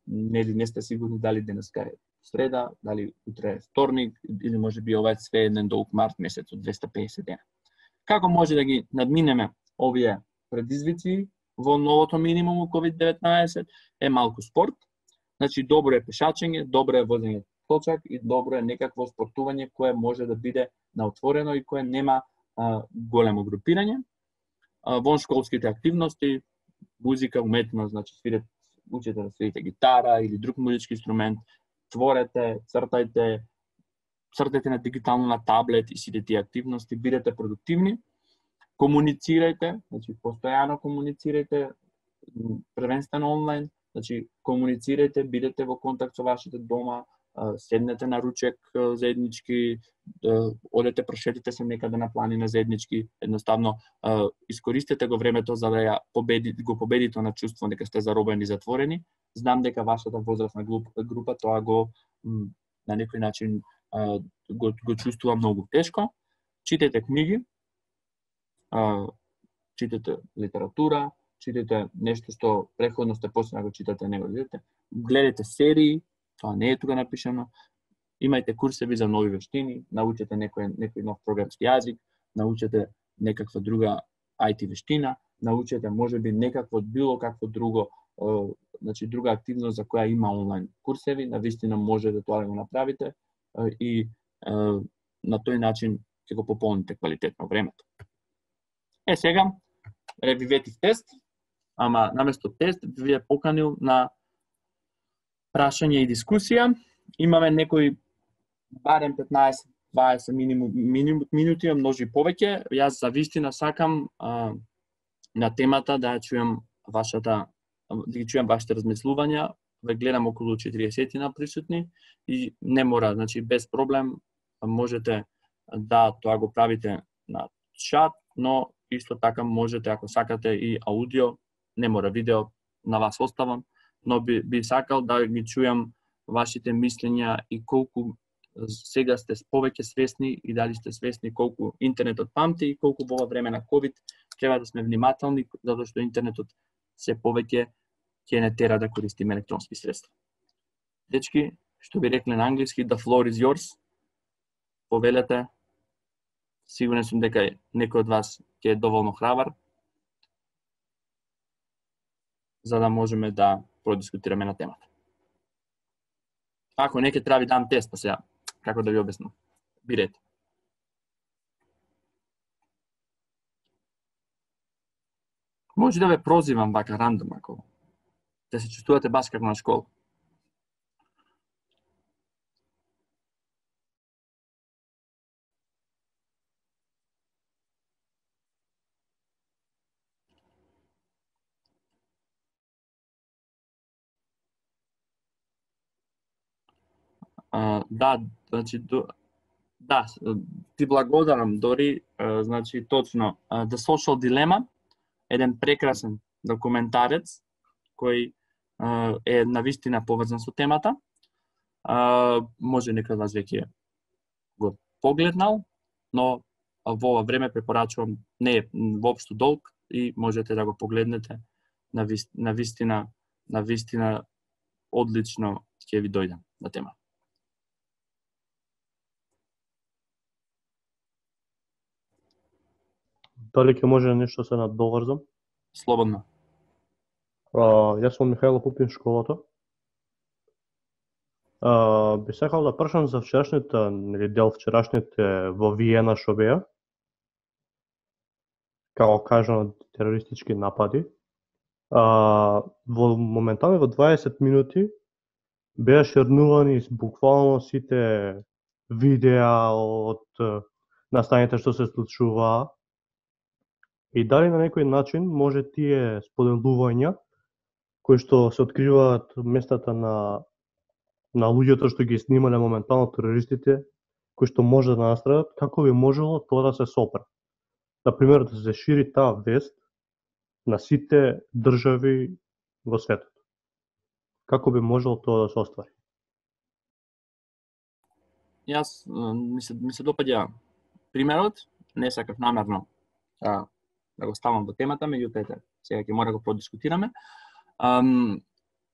нели не сте сигурни дали денеска е среда, дали утре е вторник или можеби ова е све еден долг март месец од 250 дена. Како може да ги надминеме овие предизвици во новото минимум COVID-19 е малку спорт. Значи добро е пешачење, добро е возење точак и добро е некакво спортување кое може да биде на отворено и кое нема големо групирање. Воншколските активности, музика, уметност, значи учите да свирите гитара или друг музички инструмент, творете, цртајте на дигитално на таблет и сите тие активности, бидете продуктивни, комуницирајте, значи постојано комуницирајте, првенствено онлайн, значи комуницирајте, бидете во контакт со вашите дома, седнете на ручек заеднички, одете прошетите се некаде на планина заеднички, едноставно искористете го времето за да го победите на чувство дека сте заробени и затворени. Знам дека вашата возрастна група тоа го на некој начин го чувствува многу тешко. Читете книги, читате литература, читате нешто што претходно сте почнали да го читате, не го видите. Гледате серии, тоа не е тука напишано. Имајте курсеви за нови вештини, научете некој нов програмски јазик, научете некаква друга IT вештина, научете можеби некакво било какво друго, значи друга активност за која има онлайн курсеви, навистина може да тоа го направите и на тој начин ќе го пополните квалитетно времето. Сега ревиветив тест, ама наместо тест ви е поканил на прашање и дискусија. Имаме некои барем 15-20 минути, може и повеќе. Јас за вистина сакам на темата да чујам вашите размислувања. Ве гледам околу 40 на присутни и не мора, значи без проблем можете да тоа го правите на чат, но исто така можете ако сакате и аудио, не мора видео, на вас оставам, но би сакал да ги чујам вашите мислења и колку сега сте повеќе свесни и дали сте свесни колку интернетот памти и колку во ова време на COVID треба да сме внимателни, затоа што интернетот се повеќе ќе не тера да користиме електронски средства. Дечки, што би рекле на англиски, the floor is yours. Повелете. Сигурен сум дека некој од вас ќе е доволно храбар за да можеме да продискутираме на темата. Ако не ќе треба ви дам тест, па сега, како да ви обяснам? Бирете. Може да ве прозивам вака рандом, ако да се чувствувате баш како на школа. Да, значи да, ти благодарам Дори, значи точно The Social Dilemma, еден прекрасен документарец кој е навистина поврзан со темата. Може некој од вас веќе го погледнал, но во ова време препорачувам, не е воопшто долг и можете да го погледнете, на вистина одлично ќе ви дојде на тема. Дали ќе може нешто се надоврзам? Слободно. Јас сум Михајло Пупин школата. Би сакал да прашам за вчерашните во Виена што беа, како кажано терористички напади. Моментално во 20 минути беа шернувани буквално сите видеа од настаните што се случуваа. И дали на некој начин може тие споделувања кои што се откриваат местата на луѓето што ги снимале моментално терористите, кои што може да настрадат, како би можело тоа да се сопре? Например, да се шири таа вест на сите држави во светот. Како би можело тоа да се оствари? Јас ми се допаѓа примерот, не сакав намерно да го ставам во темата, меѓутоа сега ќе мора да го продискутираме.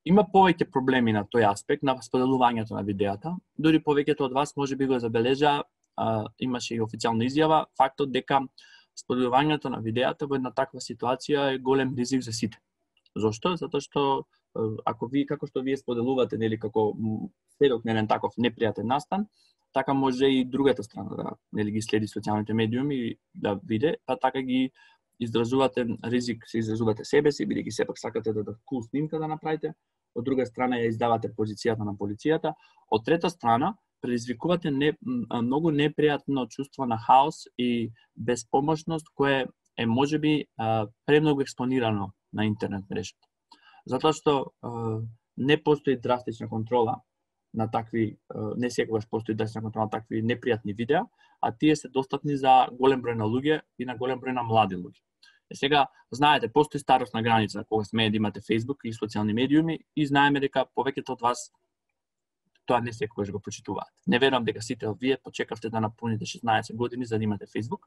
Има повеќе проблеми на тој аспект, на споделувањето на видеата. Дори повеќето од вас може би го забележа, имаше и официјална изјава, фактот дека споделувањето на видеата во една таква ситуација е голем ризик за сите. Зошто? Затоа што ако како што вие споделувате, нели, како сведок на еден таков непријатен настан, така може и другата страна да, нели, ги следи социјалните медиуми и да види, па така ги изразувате ризик, се изразувате себе си, бидејќи сепак сакате да кул снимка да направите, од друга страна ја издавате позицијата на полицијата, од трета страна предизвикувате многу непријатно чувство на хаос и безпомошност кое е можеби премногу експонирано на интернет мрежата. Затоа што не постои драстична контрола на такви, не секогаш постои драстична контрола на такви непријатни видеа, а тие се достапни за голем број на луѓе и на голем број на млади луѓе. Сега, знаете, постои старосна граница кога смее да имате Facebook и социјални медиуми и знаеме дека повеќето од вас тоа не секогаш го почитуваат. Не верувам дека сите вие почекавте да напуните 16 години за да имате Facebook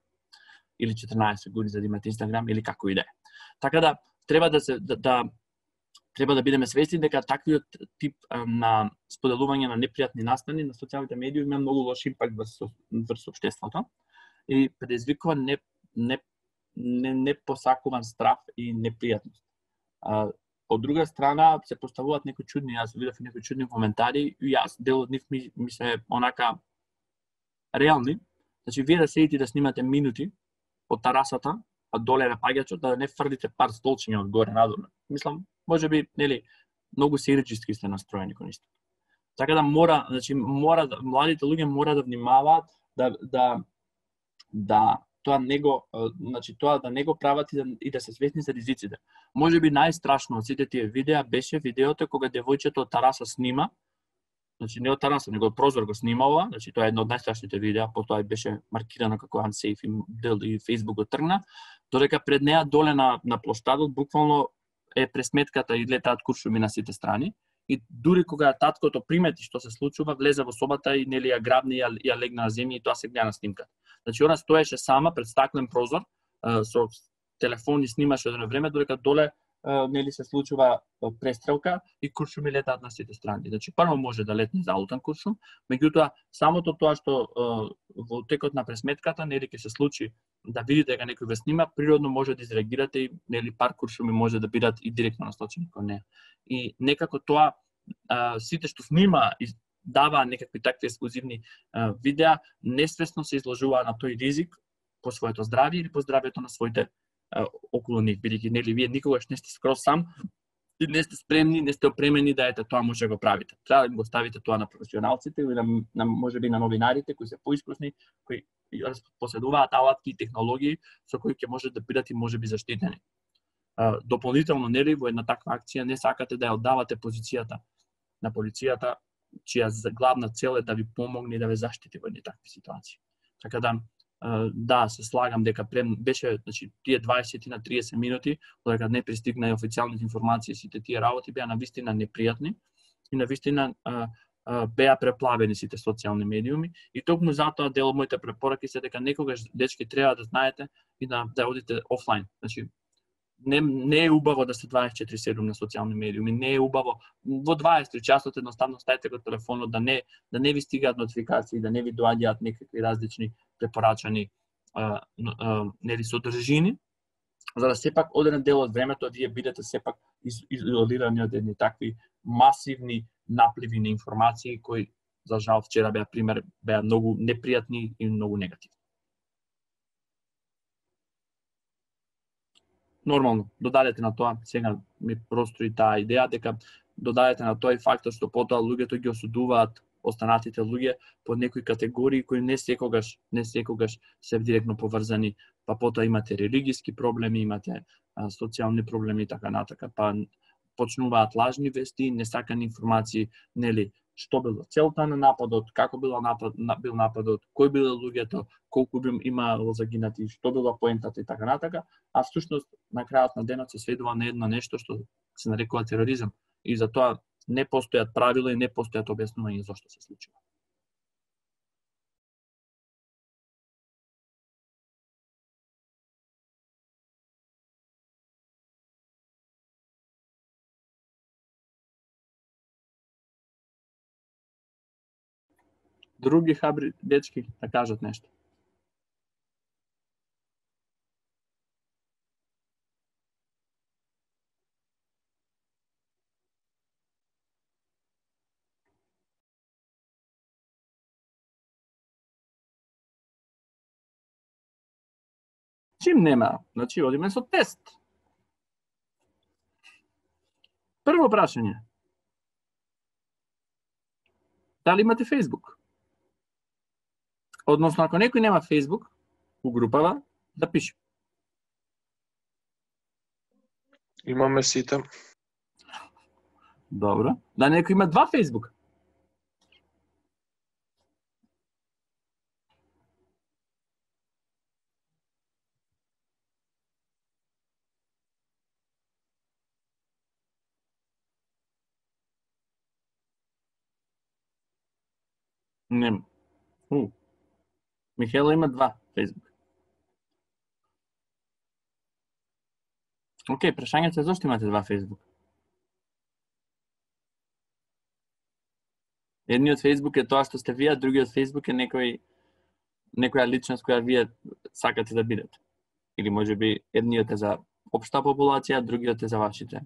или 14 години за да имате Instagram или како и да е. Така да треба да бидеме свесни дека таквиот тип на споделување на непријатни настани на социјалните медиуми има многу лош импакт врз општеството и предизвикува непосакуван страв и непријатност. Од друга страна се поставуваат некои чудни, јас видов некои чудни коментари и јас дел од нив ми се онака реални. Значи вие да седите да снимате минути од тарасата, а доле на паѓачот, да не фрлите пар столчиња од горе надолу. Мислам, можеби, нели, многу сериџиски сте настроени кон исто. Така да младите луѓе мора да внимаваат да тоа не го прават и да се свесни за ризиците. Можеби најстрашно од сите тие видеа беше видеото кога девојчето од тараса снима, значи не од тараса, него од прозор го снимала, значи тоа е едно од најстрашните видеа, потоа беше маркирано како unsafe и Facebook го тргна, додека пред неа доле на плоштадот буквално е пресметката и летаат куршуми на сите страни. И дури кога таткото примети што се случува, влезе во собата и нели ја грабни и ја легна на земја и тоа се гледа на снимката. Значи она стоеше сама пред стаклен прозор, со телефон и снимаше едно време, додека доле нели се случува престрелка и куршуми летаат на сите страни. Значи прво може да летне залутан куршум, меѓутоа самото тоа што во текот на пресметката нели ќе се случи да видите дека некој ве снима, природно може да изреагирате и нели пар куршуми може да бидат и директно насочени кон неа. И некако тоа сите што снима и дава некакви такви ексклузивни видеа, несвесно се изложува на тој ризик по своето здравје или по здравјето на своите околу нив, бидејќи нели вие никогаш не сте скроз сам и не сте спремни, не сте опремени да тоа може да го правите. Треба да го ставите тоа на професионалците или на можеби на новинарите кои се поискусни, кои поседуваат алатки и технологии со кои ќе може да бидат и можеби заштитени. Дополнително нели во една таква акција не сакате да ја оддавате позицијата на полицијата, чија главна цел е да ви помогне и да ве заштити во такви ситуации. Така да, се слагам дека беше, значи, тие 20 на 30 минути, додека не пристигна и официјалните информации, сите тие работи беа навистина непријатни и навистина беа преплавени сите социјални медиуми и токму затоа дел од моите препораки се дека некогаш дечки треба да знаете и да одите офлайн. Значи не е убаво да сте 24/7 на социјални медиуми, не е убаво во 23 часот едноставно ставите го телефонот да не ви стигаат нотификации, да не ви доаѓаат некакви различни препорачани нели содржини, за да сепак одреден дел од времето вие бидете сепак изолирани од едни такви масивни напливи на информации кои за жал вчера беа многу непријатни и многу негативни. Нормално, додадете на тоа, сега ми прострои таа идеја дека додадете на тоа и фактот што потоа луѓето ги осудуваат останатите луѓе под некои категории кои не секогаш се директно поврзани, па потоа имате религиски проблеми, имате социјални проблеми и така натака, па почнуваат лажни вести, несакани информации, нели, што било целта на нападот, како бил нападот, кој биле луѓето, колку би имало загинати, што била поентата и така натака, а всушност на крајот на денот се сведува на едно нешто што се нарекува тероризам и затоа не постојат правила и не постојат објаснувања зошто се случува. Други хабри дечки да кажат нешто. Чим нема, значи одиме со тест. Прво прашање. Дали имате Facebook? Односно, ако некој нема Facebook у групава, да пише. Имаме сите. Добро. Да некој има два Facebook? Нема. Михаела има два Facebook. Океј, прашањето е зошто имате два Facebook? Едниот Facebook е тоа што сте вие, а другиот Facebook е некоја личност која вие сакате да бидете. Или можеби едниот е за општа популација, а другиот е за вашите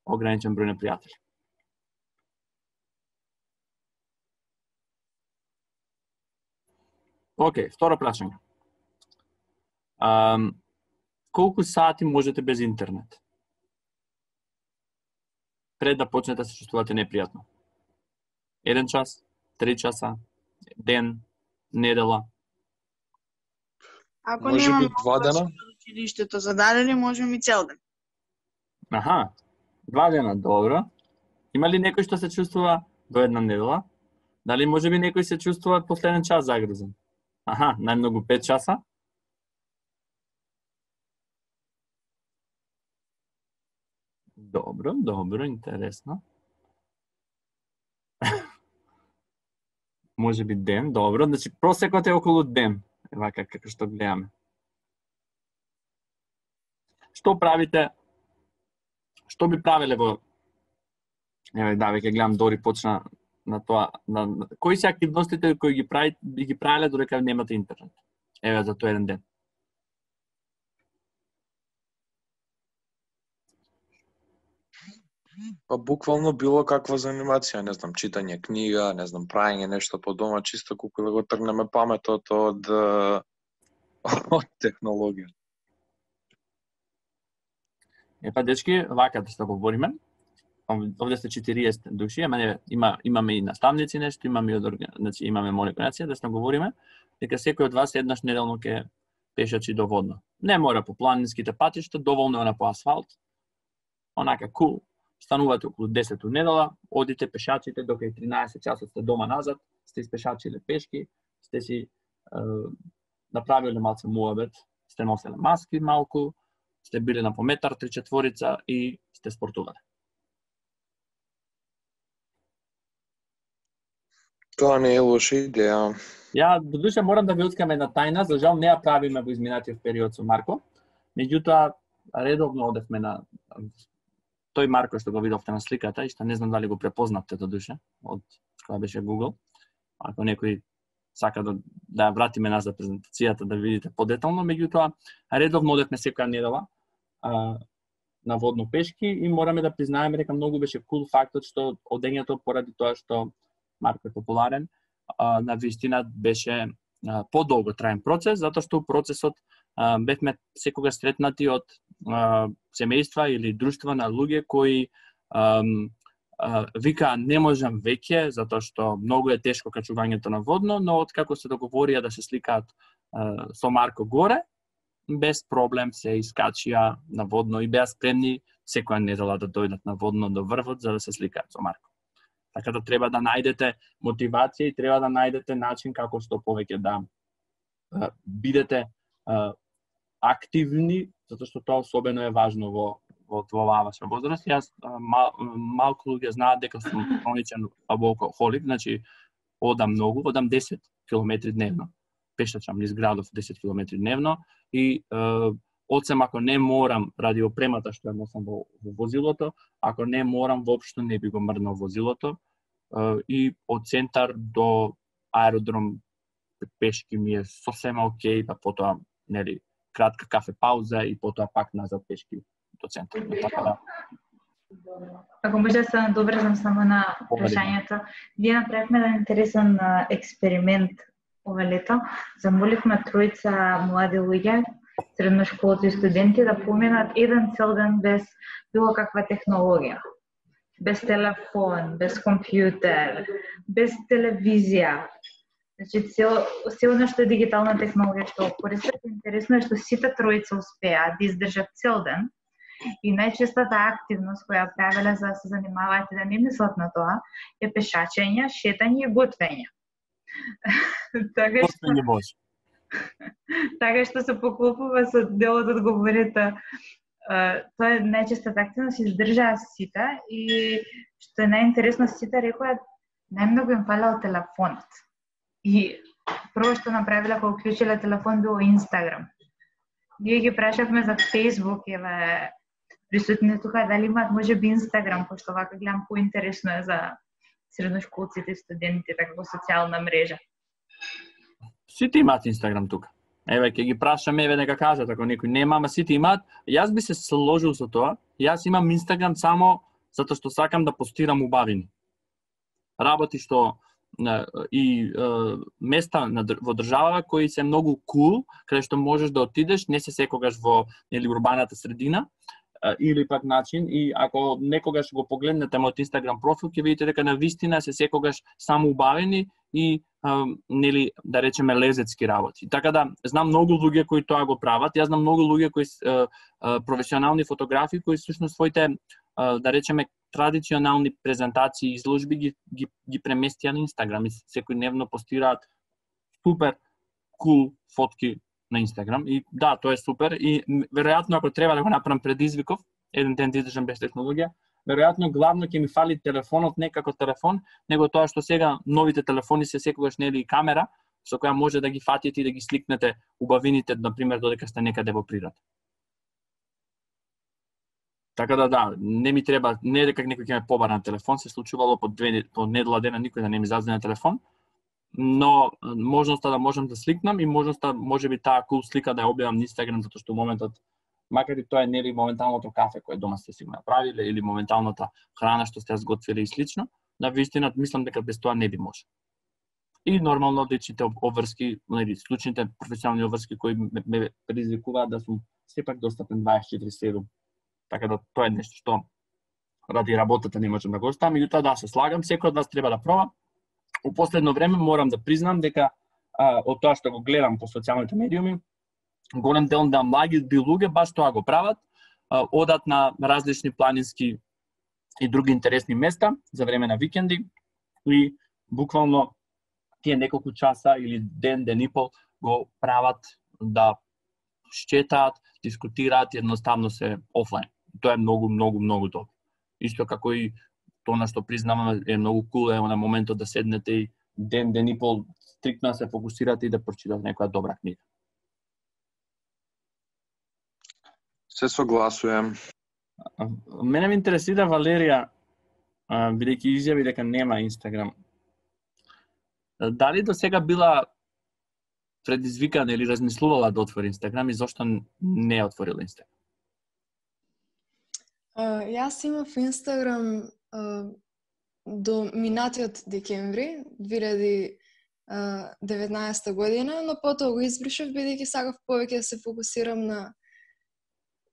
ограничен број на пријатели. Океј, второ прашање. Колку сати можете без интернет? Пред да почнете да се чувствувате непријатно? 1 час, 3 часа, ден, недела? Ако Може немам би 2 дена? училиштето зададени, можем и цел ден. Аха, 2 дена, добро. Има ли некој што се чувствува до 1 недела? Дали може би некој се чувствува последен час загрузен? Аха, најмногу 5 часа? Добро, интересно. Може би ден, добро. Значи, просекот е околу ден. Вака, како што гледаме. Што правите? Што би правеле во... Еве, да, веќе гледам Дори почна на тоа. Кои се активностите кои ги правеле додека немате интернет? Еве, за тој еден ден. Па буквално било каква занимација, не знам, читање книга, не знам, праење нешто по дома, чисто колку да го тргнеме паметот од технологија. Епа, дечки, вака да се говориме. Овде сте 40 души, имаме и наставници нешто, значи имаме организација да се говориме, дека секој од вас еднаш неделно ќе пешачи до водно. Не мора по планинските патишта, доволно е по асфалт. Онака кул. Станувате околу 10 недела, одите пешачите, докај 13 часот сте дома назад, сте испешачиле пешки, сте си направиле малце муабет, сте носеле маски малку, сте биле на по метар, 3/4 и сте спортувале. Тоа не е лоша идеја. Ја додуше морам да ви откриам една тајна, за жал не ја правиме во изминатиот период со Марко. Меѓутоа редовно одевме на тој Марко што го видовте на сликата и што не знам дали го препознавте додуше од која беше Google. Ако некој сака да ја вратиме назад презентацијата да видите подетално, меѓутоа редовно одевме секоја недела на водно пешки и мораме да признаеме дека многу беше кул фактот што одењето поради тоа што Марко е популарен, на вистина беше подолго траен процес, затоа што процесот бевме секогаш сретнати од семејства или друштва на луѓе кои вика не можам веќе затоа што многу е тешко качувањето на водно, но откако се договорија да се сликаат со Марко горе, без проблем се искачија на водно и беа спремни секоја недела да дојдат на водно до врвот за да се сликаат со Марко. Така да треба да најдете мотивација и треба да најдете начин како што повеќе да бидете активни, затоа што тоа особено е важно во оваа ваша возраст. Јас малку луѓе знаат дека сум хроничен алкохолик, значи одам 10 километри дневно. Пешачам низ градов 10 километри дневно и одсем ако не морам ради опремата што ја носам во возилото, ако не морам воопшто не би го мрднал возилото и од центар до аеродром пешки ми е сосема окей, па потоа нели кратка кафе пауза и потоа пак назад пешки до центар. Така да Ако може да се надобрзам само на прашањето, ние направивме еден интересен експеримент ова лето. Замоливме тројца млади луѓе, средношколци и студенти да поминат еден цел ден без било каква технологија. Без телефон, без компјутер, без телевизија. Значи, се оно што е дигитална технологија што користат, интересно е што сите тројца успеа да издржат цел ден и најчестата активност која правеле за да се занимаваат и да не мислат на тоа е пешачење, шетање и готвење. Така што се поклопува со дел од одговорите. Тоа е најчестата активност, издржаа сите и што е најинтересно, сите рекоа најмногу им фалел телефонот. И прво што направиле кога уклучиле телефон било Инстаграм. Ние ги прашавме за Фејсбук, еве присутни тука дали имаат можеби Инстаграм, пошто вака гледам поинтересно е за средношколците и студентите како социјална мрежа. Сите имаат Инстаграм тука. Еве ќе ги прашаме, еве нека кажат ако некој нема, ама сите имаат. Јас би се сложил со тоа. Јас имам Инстаграм само затоа што сакам да постирам убавини. Работи што и места во држава кои се многу кул, каде што можеш да отидеш, не се секогаш во урбаната средина, или пак начин, и ако некогаш го погледнете мојот Инстаграм профил, ќе видите дека на вистина се секогаш само убавени и нели да речеме лезецки работи. Така да знам многу луѓе кои тоа го прават. Јас знам многу луѓе кои професионални фотографи кои всушност своите да речеме традиционални презентации и изложби ги преместија на Инстаграм и секојдневно постираат супер кул фотки на Инстаграм и да, тоа е супер и веројатно ако треба да го направам предизвиков, еден ден да издржам без технологија, веројатно главно ќе ми фали телефонот не како телефон, него тоа што сега новите телефони се секогаш нели камера со која може да ги фатите и да ги сликнете убавините, на пример додека сте некаде во природ. Така да, не ми треба, не дека некој ќе ме побара на телефон, се случувало по недела дена никој да не ми зазвони на телефон, но можноста да можам да сликнам и можноста можеби таа кул слика да ја објавам на Инстаграм затоа што моментот, макар и тоа е нели моменталното кафе кое дома сте си го направиле или моменталната храна што сте сготвиле и слично, на вистина мислам дека без тоа не би може. И нормално личните обврски, нели случните професионални обврски кои ме предизвикуваат да сум сепак достапен 24/7. Така да тоа е нешто што ради работата не можам да го оставам, меѓутоа да се слагам, секој од вас треба да проба. У последно време морам да признам дека од тоа што го гледам по социјалните медиуми, голем дел на млади луѓе баш тоа го прават, одат на различни планински и други интересни места за време на викенди и буквално тие неколку часа или ден и пол го прават да шетаат, дискутираат, едноставно се офлайн. Тоа е многу добро. Исто како и тоа на што признаваме е многу кул е на моментот да седнете и ден и пол стриктно се фокусирате и да прочитате некоја добра книга. Се согласувам. Мене ме интересира Валерија, бидејќи изјави дека нема Инстаграм. Дали до сега била предизвикана или размислувала да отвори Инстаграм и зошто не е отворила Инстаграм? Јас имав Инстаграм до минатиот декември 2019 година, но потоа го избришав бидејќи сакав повеќе да се фокусирам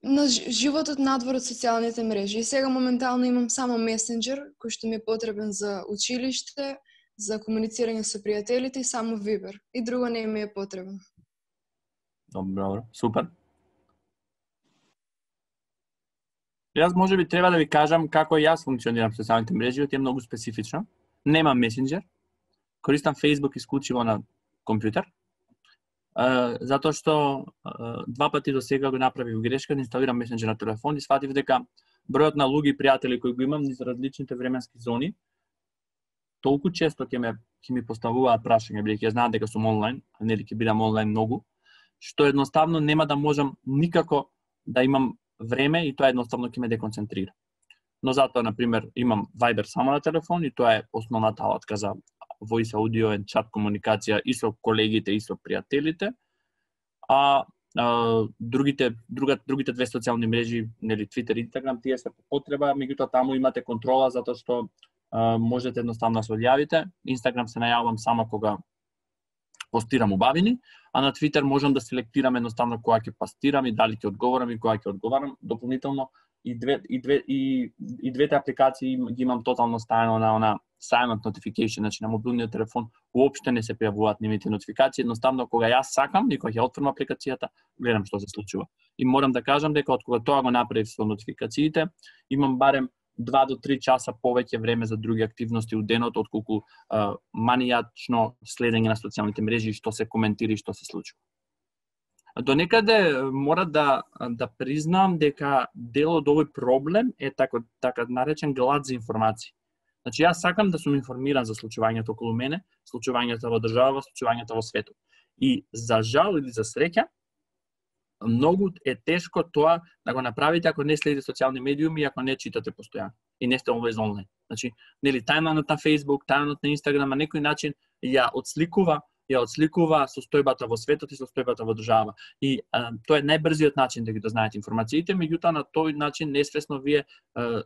на животот надвор од социјалните мрежи. И сега моментално имам само месенџер кој што ми е потребен за училиште, за комуницирање со пријателите и само Viber. И друго не ми е потребно. Добро, супер. Јас можеби треба да ви кажам како јас функционирам со социјалните мрежи, е многу специфично. Немам месенџер, користам Facebook исклучиво на компјутер, затоа што два пати до сега го направив грешка да инсталирам месенџер на телефон и сфатив дека бројот на луѓе и пријатели кои го имам низ различните временски зони толку често ќе ми поставуваат прашања, бидејќи ја знаат дека сум онлайн, а нели ќе бидам онлайн многу, што едноставно нема да можам никако да имам време и тоа едноставно ќе ме деконцентрира. Но затоа, например, имам Viber само на телефон и тоа е основната алатка за voice audio и чат комуникација и со колегите и со пријателите. А другите две социјални мрежи, нели Twitter и Instagram, тие се по потреба, меѓутоа таму имате контрола затоа што можете едноставно да се одјавите. Instagram се најавам само кога постирам убавини, а на Twitter можам да селектирам едноставно кога ќе пастирам и дали ќе одговорам и кога ќе одговарам. Дополнително и двете апликации ги имам тотално ставено на она silent notification, значи на мобилниот телефон уопште не се пријавуваат нивните нотификации, едноставно кога јас сакам и кога ќе отворам апликацијата, гледам што се случува. И морам да кажам дека од кога тоа го направив со нотификациите, имам барем 2 до 3 часа повеќе време за други активности у денот, отколку манијачно следење на социјалните мрежи, што се коментира и што се случува. До некаде мора да признам дека дел од овој проблем е така наречен глад за информации. Значи, јас сакам да сум информиран за случувањето околу мене, случувањето во држава, случувањето во светот. И за жал или за среќа, многу е тешко тоа да го направите ако не следите социјални медиуми и ако не читате постојано и не сте always онлайн. Значи, нели тајмлајнот на Facebook, тајмлајнот на Instagram на некој начин ја отсликува состојбата во светот и состојбата во држава. И тоа е најбрзиот начин да ги дознаете информациите, меѓутоа на тој начин несвесно вие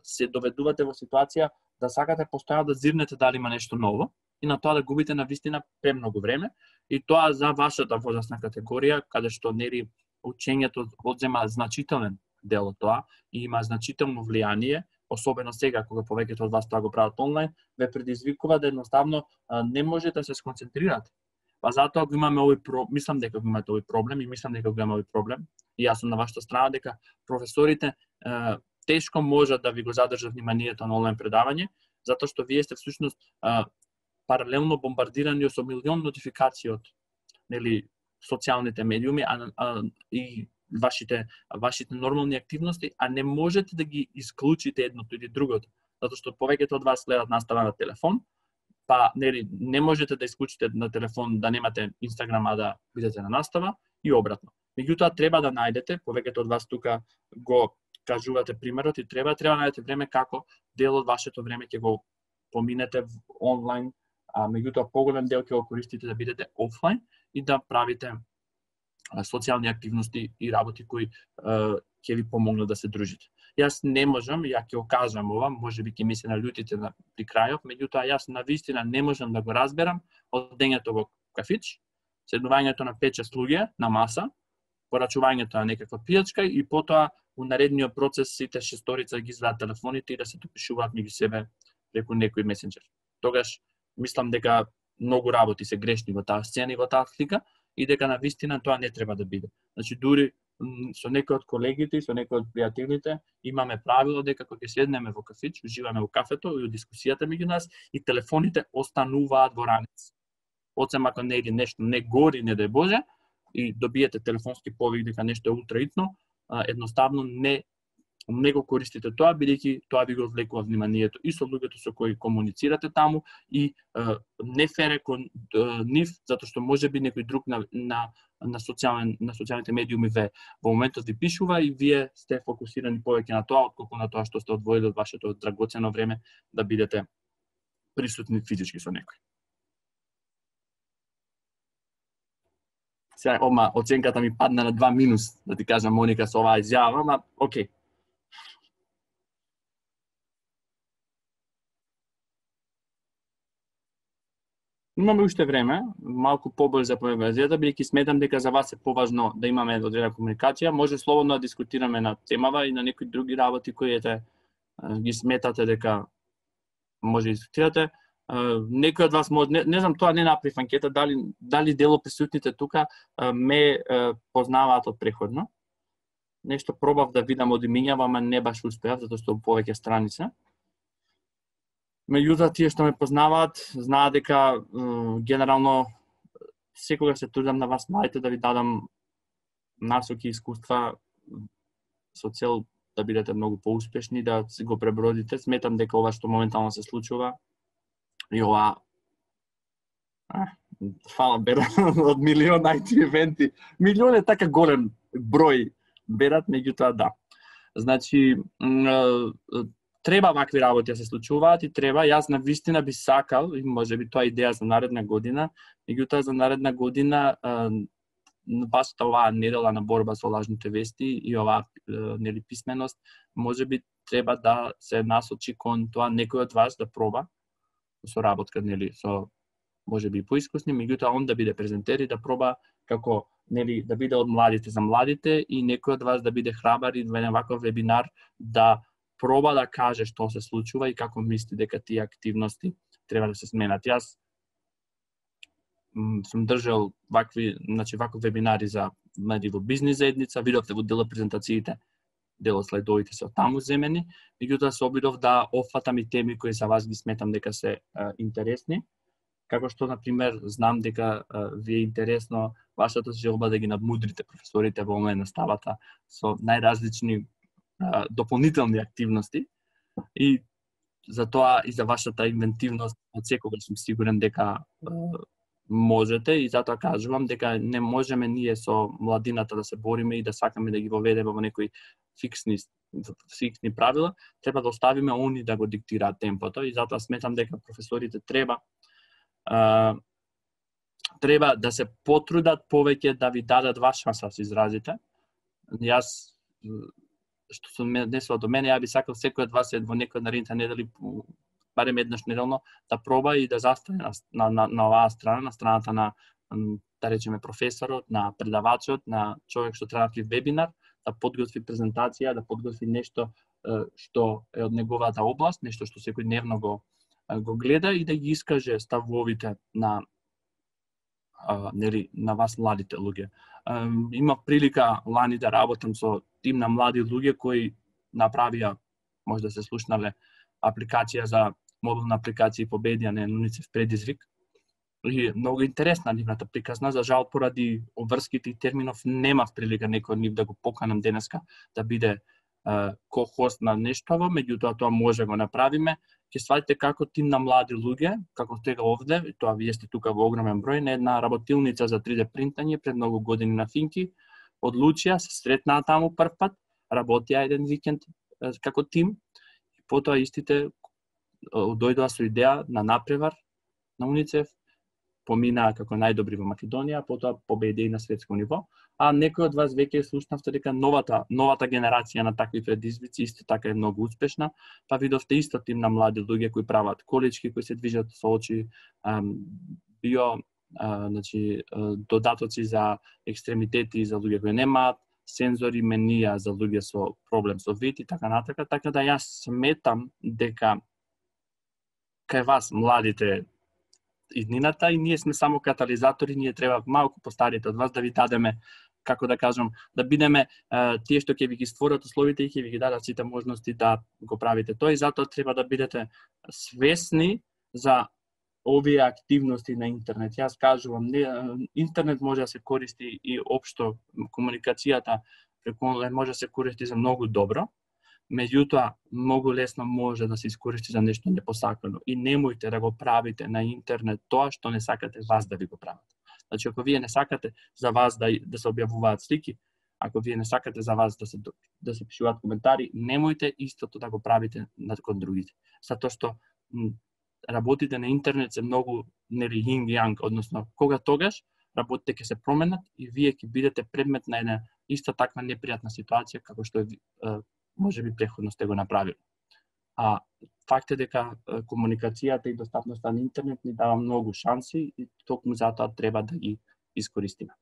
се доведувате во ситуација да сакате постојано да зирнете дали има нешто ново и на тоа да губите навистина премногу време, и тоа за вашата возрастна категорија, каде што нели учењето одзема значителен дел од тоа и има значително влијание, особено сега кога повеќето од вас тоа го прават онлайн, ве предизвикува да едноставно не можете да се сконцентрирате. Па затоа го имаме мислам дека го имате овој проблем и мислам дека го имаме овој проблем. И јас сум на вашата страна дека професорите тешко можат да ви го задржат вниманието на онлайн предавање, затоа што вие сте всушност паралелно бомбардирани со милион нотификации од нели социјалните медиуми и вашите нормални активности, а не можете да ги исклучите едното или другото, затоа што повеќето од вас гледат настава на телефон, па нели не можете да исклучите на телефон да немате Инстаграм, а да бидете на настава и обратно. Меѓутоа треба да најдете, повеќето од вас тука го кажувате примерот и треба да најдете време како дел од вашето време ќе го поминете онлайн, а меѓутоа поголем дел ќе го користите да бидете офлайн и да правите социјални активности и работи кои ќе ви помогнат да се дружите. Јас не можам, ја ќе окажам ова, можеби ќе ми се налютите при крајот, меѓутоа јас навистина не можам да го разберам одењето во кафич, седнувањето на 5-6 луѓе на маса, порачувањето на некаква пијачка и потоа у наредниот процес сите шесторица ги извадат телефоните и да се допишуваат меѓу себе преку некој месенџер. Тогаш мислам дека многу работи се грешни во таа сцена и во таа слика и дека навистина тоа не треба да биде. Значи дури со некои од колегите и со некои од пријателите имаме правило дека кога ќе седнеме во кафич, уживаме во кафето и во дискусијата меѓу нас и телефоните остануваат во ранец. Осем ако не иде нешто не гори, не дај Боже, и добиете телефонски повик дека нешто е ултраитно, едноставно не Него користите тоа, бидејќи тоа ви го одвлекува вниманието и со луѓето со кои комуницирате таму и не фере кон нив, затоа што можеби некој друг на социјалните медиуми во моментот ви пишува и вие сте фокусирани повеќе на тоа, отколку на тоа што сте одвоили од вашето драгоцено време да бидете присутни физички со некој. Сега, оценката ми падна на 2 минус, да ти кажам, Моника, со оваа изјава, ама окей. Имаме уште време, малку побрзо за конверзијата, бидејќи сметам дека за вас е поважно да имаме одредена комуникација. Може слободно да дискутираме на темава и на некои други работи кои ги сметате дека може да дискутирате. Некој од вас може, не знам, тоа не направив анкета, дали дел од присутните тука ме познаваат од преходно. Нешто пробав да видам од имињава, ама не баш успеав, затоа што повеќе страница. Меѓутоа, тие што ме познаваат, знаат дека генерално секогаш се трудам на вас младите да ви дадам насоки и искуства со цел да бидете многу поуспешни, да си го пребродите. Сметам дека ова што моментално се случува и ова фала бера од милион IT евенти. Милион е така голем број берат, меѓутоа да. Значи, треба вакви работи да се случуваат и треба, јас на вистина би сакал, и можеби тоа идеја за наредна година, меѓутоа за наредна година вашата оваа недела на борба со лажните вести и оваа нели писменост, можеби треба да се насочи кон тоа некој од вас да проба со работка нели со можеби поискусни, меѓутоа он да биде презентер и да проба како нели да биде од младите за младите и некој од вас да биде храбар и во ваков вебинар да проба да каже што се случува и како мисли дека тие активности треба да се сменат. Јас сум држал ваков вебинари за меди во бизнис заедница, видовте во дел презентациите, дел од слайдовите се таму земени, меѓутоа се обидов да офатам и теми кои за вас ги сметам дека се интересни. Како што, например, знам дека ви е интересно вашата желба да ги надмудрите професорите во момент на наставата со најразлични дополнителни активности и за тоа и за вашата инвентивност од секогаш сум сигурен дека можете и затоа кажувам дека не можеме ние со младината да се бориме и да сакаме да ги воведеме во некои фиксни правила, треба да оставиме они да го диктираат темпото и затоа сметам дека професорите треба да се потрудат повеќе да ви дадат ваш шанс да се изразите. Јас што се однесува до мене, ја би сакал секој од вас во некој наредните недели, барем еднаш неделно, да проба и да застане на оваа страна, на страната на, да речеме, професорот, на предавачот, на човек што треба да вебинар, да подготви презентација, да подготви нешто што е од неговата област, нешто што секојдневно го гледа и да ги искаже ставовите на вас младите луѓе. Има прилика лани да работам со тим на млади луѓе кои направија, може да се слушнале, апликација за мобилна апликација и победија на УНИЦЕФ предизвик. И многу интересна нивната приказна, за жал поради обврските и терминов немав прилика некој од нив да го поканам денеска да биде ко-хост на нештово, меѓутоа тоа може го направиме. Ќе сватите како тим на млади луѓе, како сега овде, тоа вие сте тука во огромен број, на една работилница за 3D принтање пред многу години на Финки, одлучија, се сретнаа таму прв пат, работија еден викенд како тим, и потоа истите дојдоа со идеја на напревар на УНИЦЕФ, поминаа како најдобри во Македонија, потоа победи и на светско ниво, а некој од вас веќе слушнавте дека новата генерација на такви предизвици исто така е многу успешна, па видовте исто тим на млади луѓе кои прават колички, кои се движат со очи, додатоци за екстремитети за луѓе кои немаат, сензори, менија за луѓе со проблем со вид и така натака, така да јас сметам дека кај вас младите иднината и ние сме само катализатори, ние треба малку постарите од вас да ви дадеме, како да кажам, да бидеме тие што ќе ви ги створат условите и ќе ви ги дадат сите можности да го правите тоа и затоа треба да бидете свесни за овие активности на интернет. Јас кажувам, интернет може да се користи и општо комуникацијата преку онлайн може да се користи за многу добро, Меѓутоа, многу лесно може да се искористи за нешто непосакано и немојте да го правите на интернет тоа што не сакате вас да ви го прават. Значи, ако вие не сакате за вас да се објавуваат слики, ако вие не сакате за вас да се пишуваат коментари, немојте истото да го правите кон другите. Затоа што работите на интернет се многу нели yin yang, односно кога тогаш работите ќе се променат и вие ќе бидете предмет на една иста таква непријатна ситуација како што можеби претходно сте го направили. А факт е дека комуникацијата и достапноста на интернет ни дава многу шанси и токму затоа треба да ги искористиме.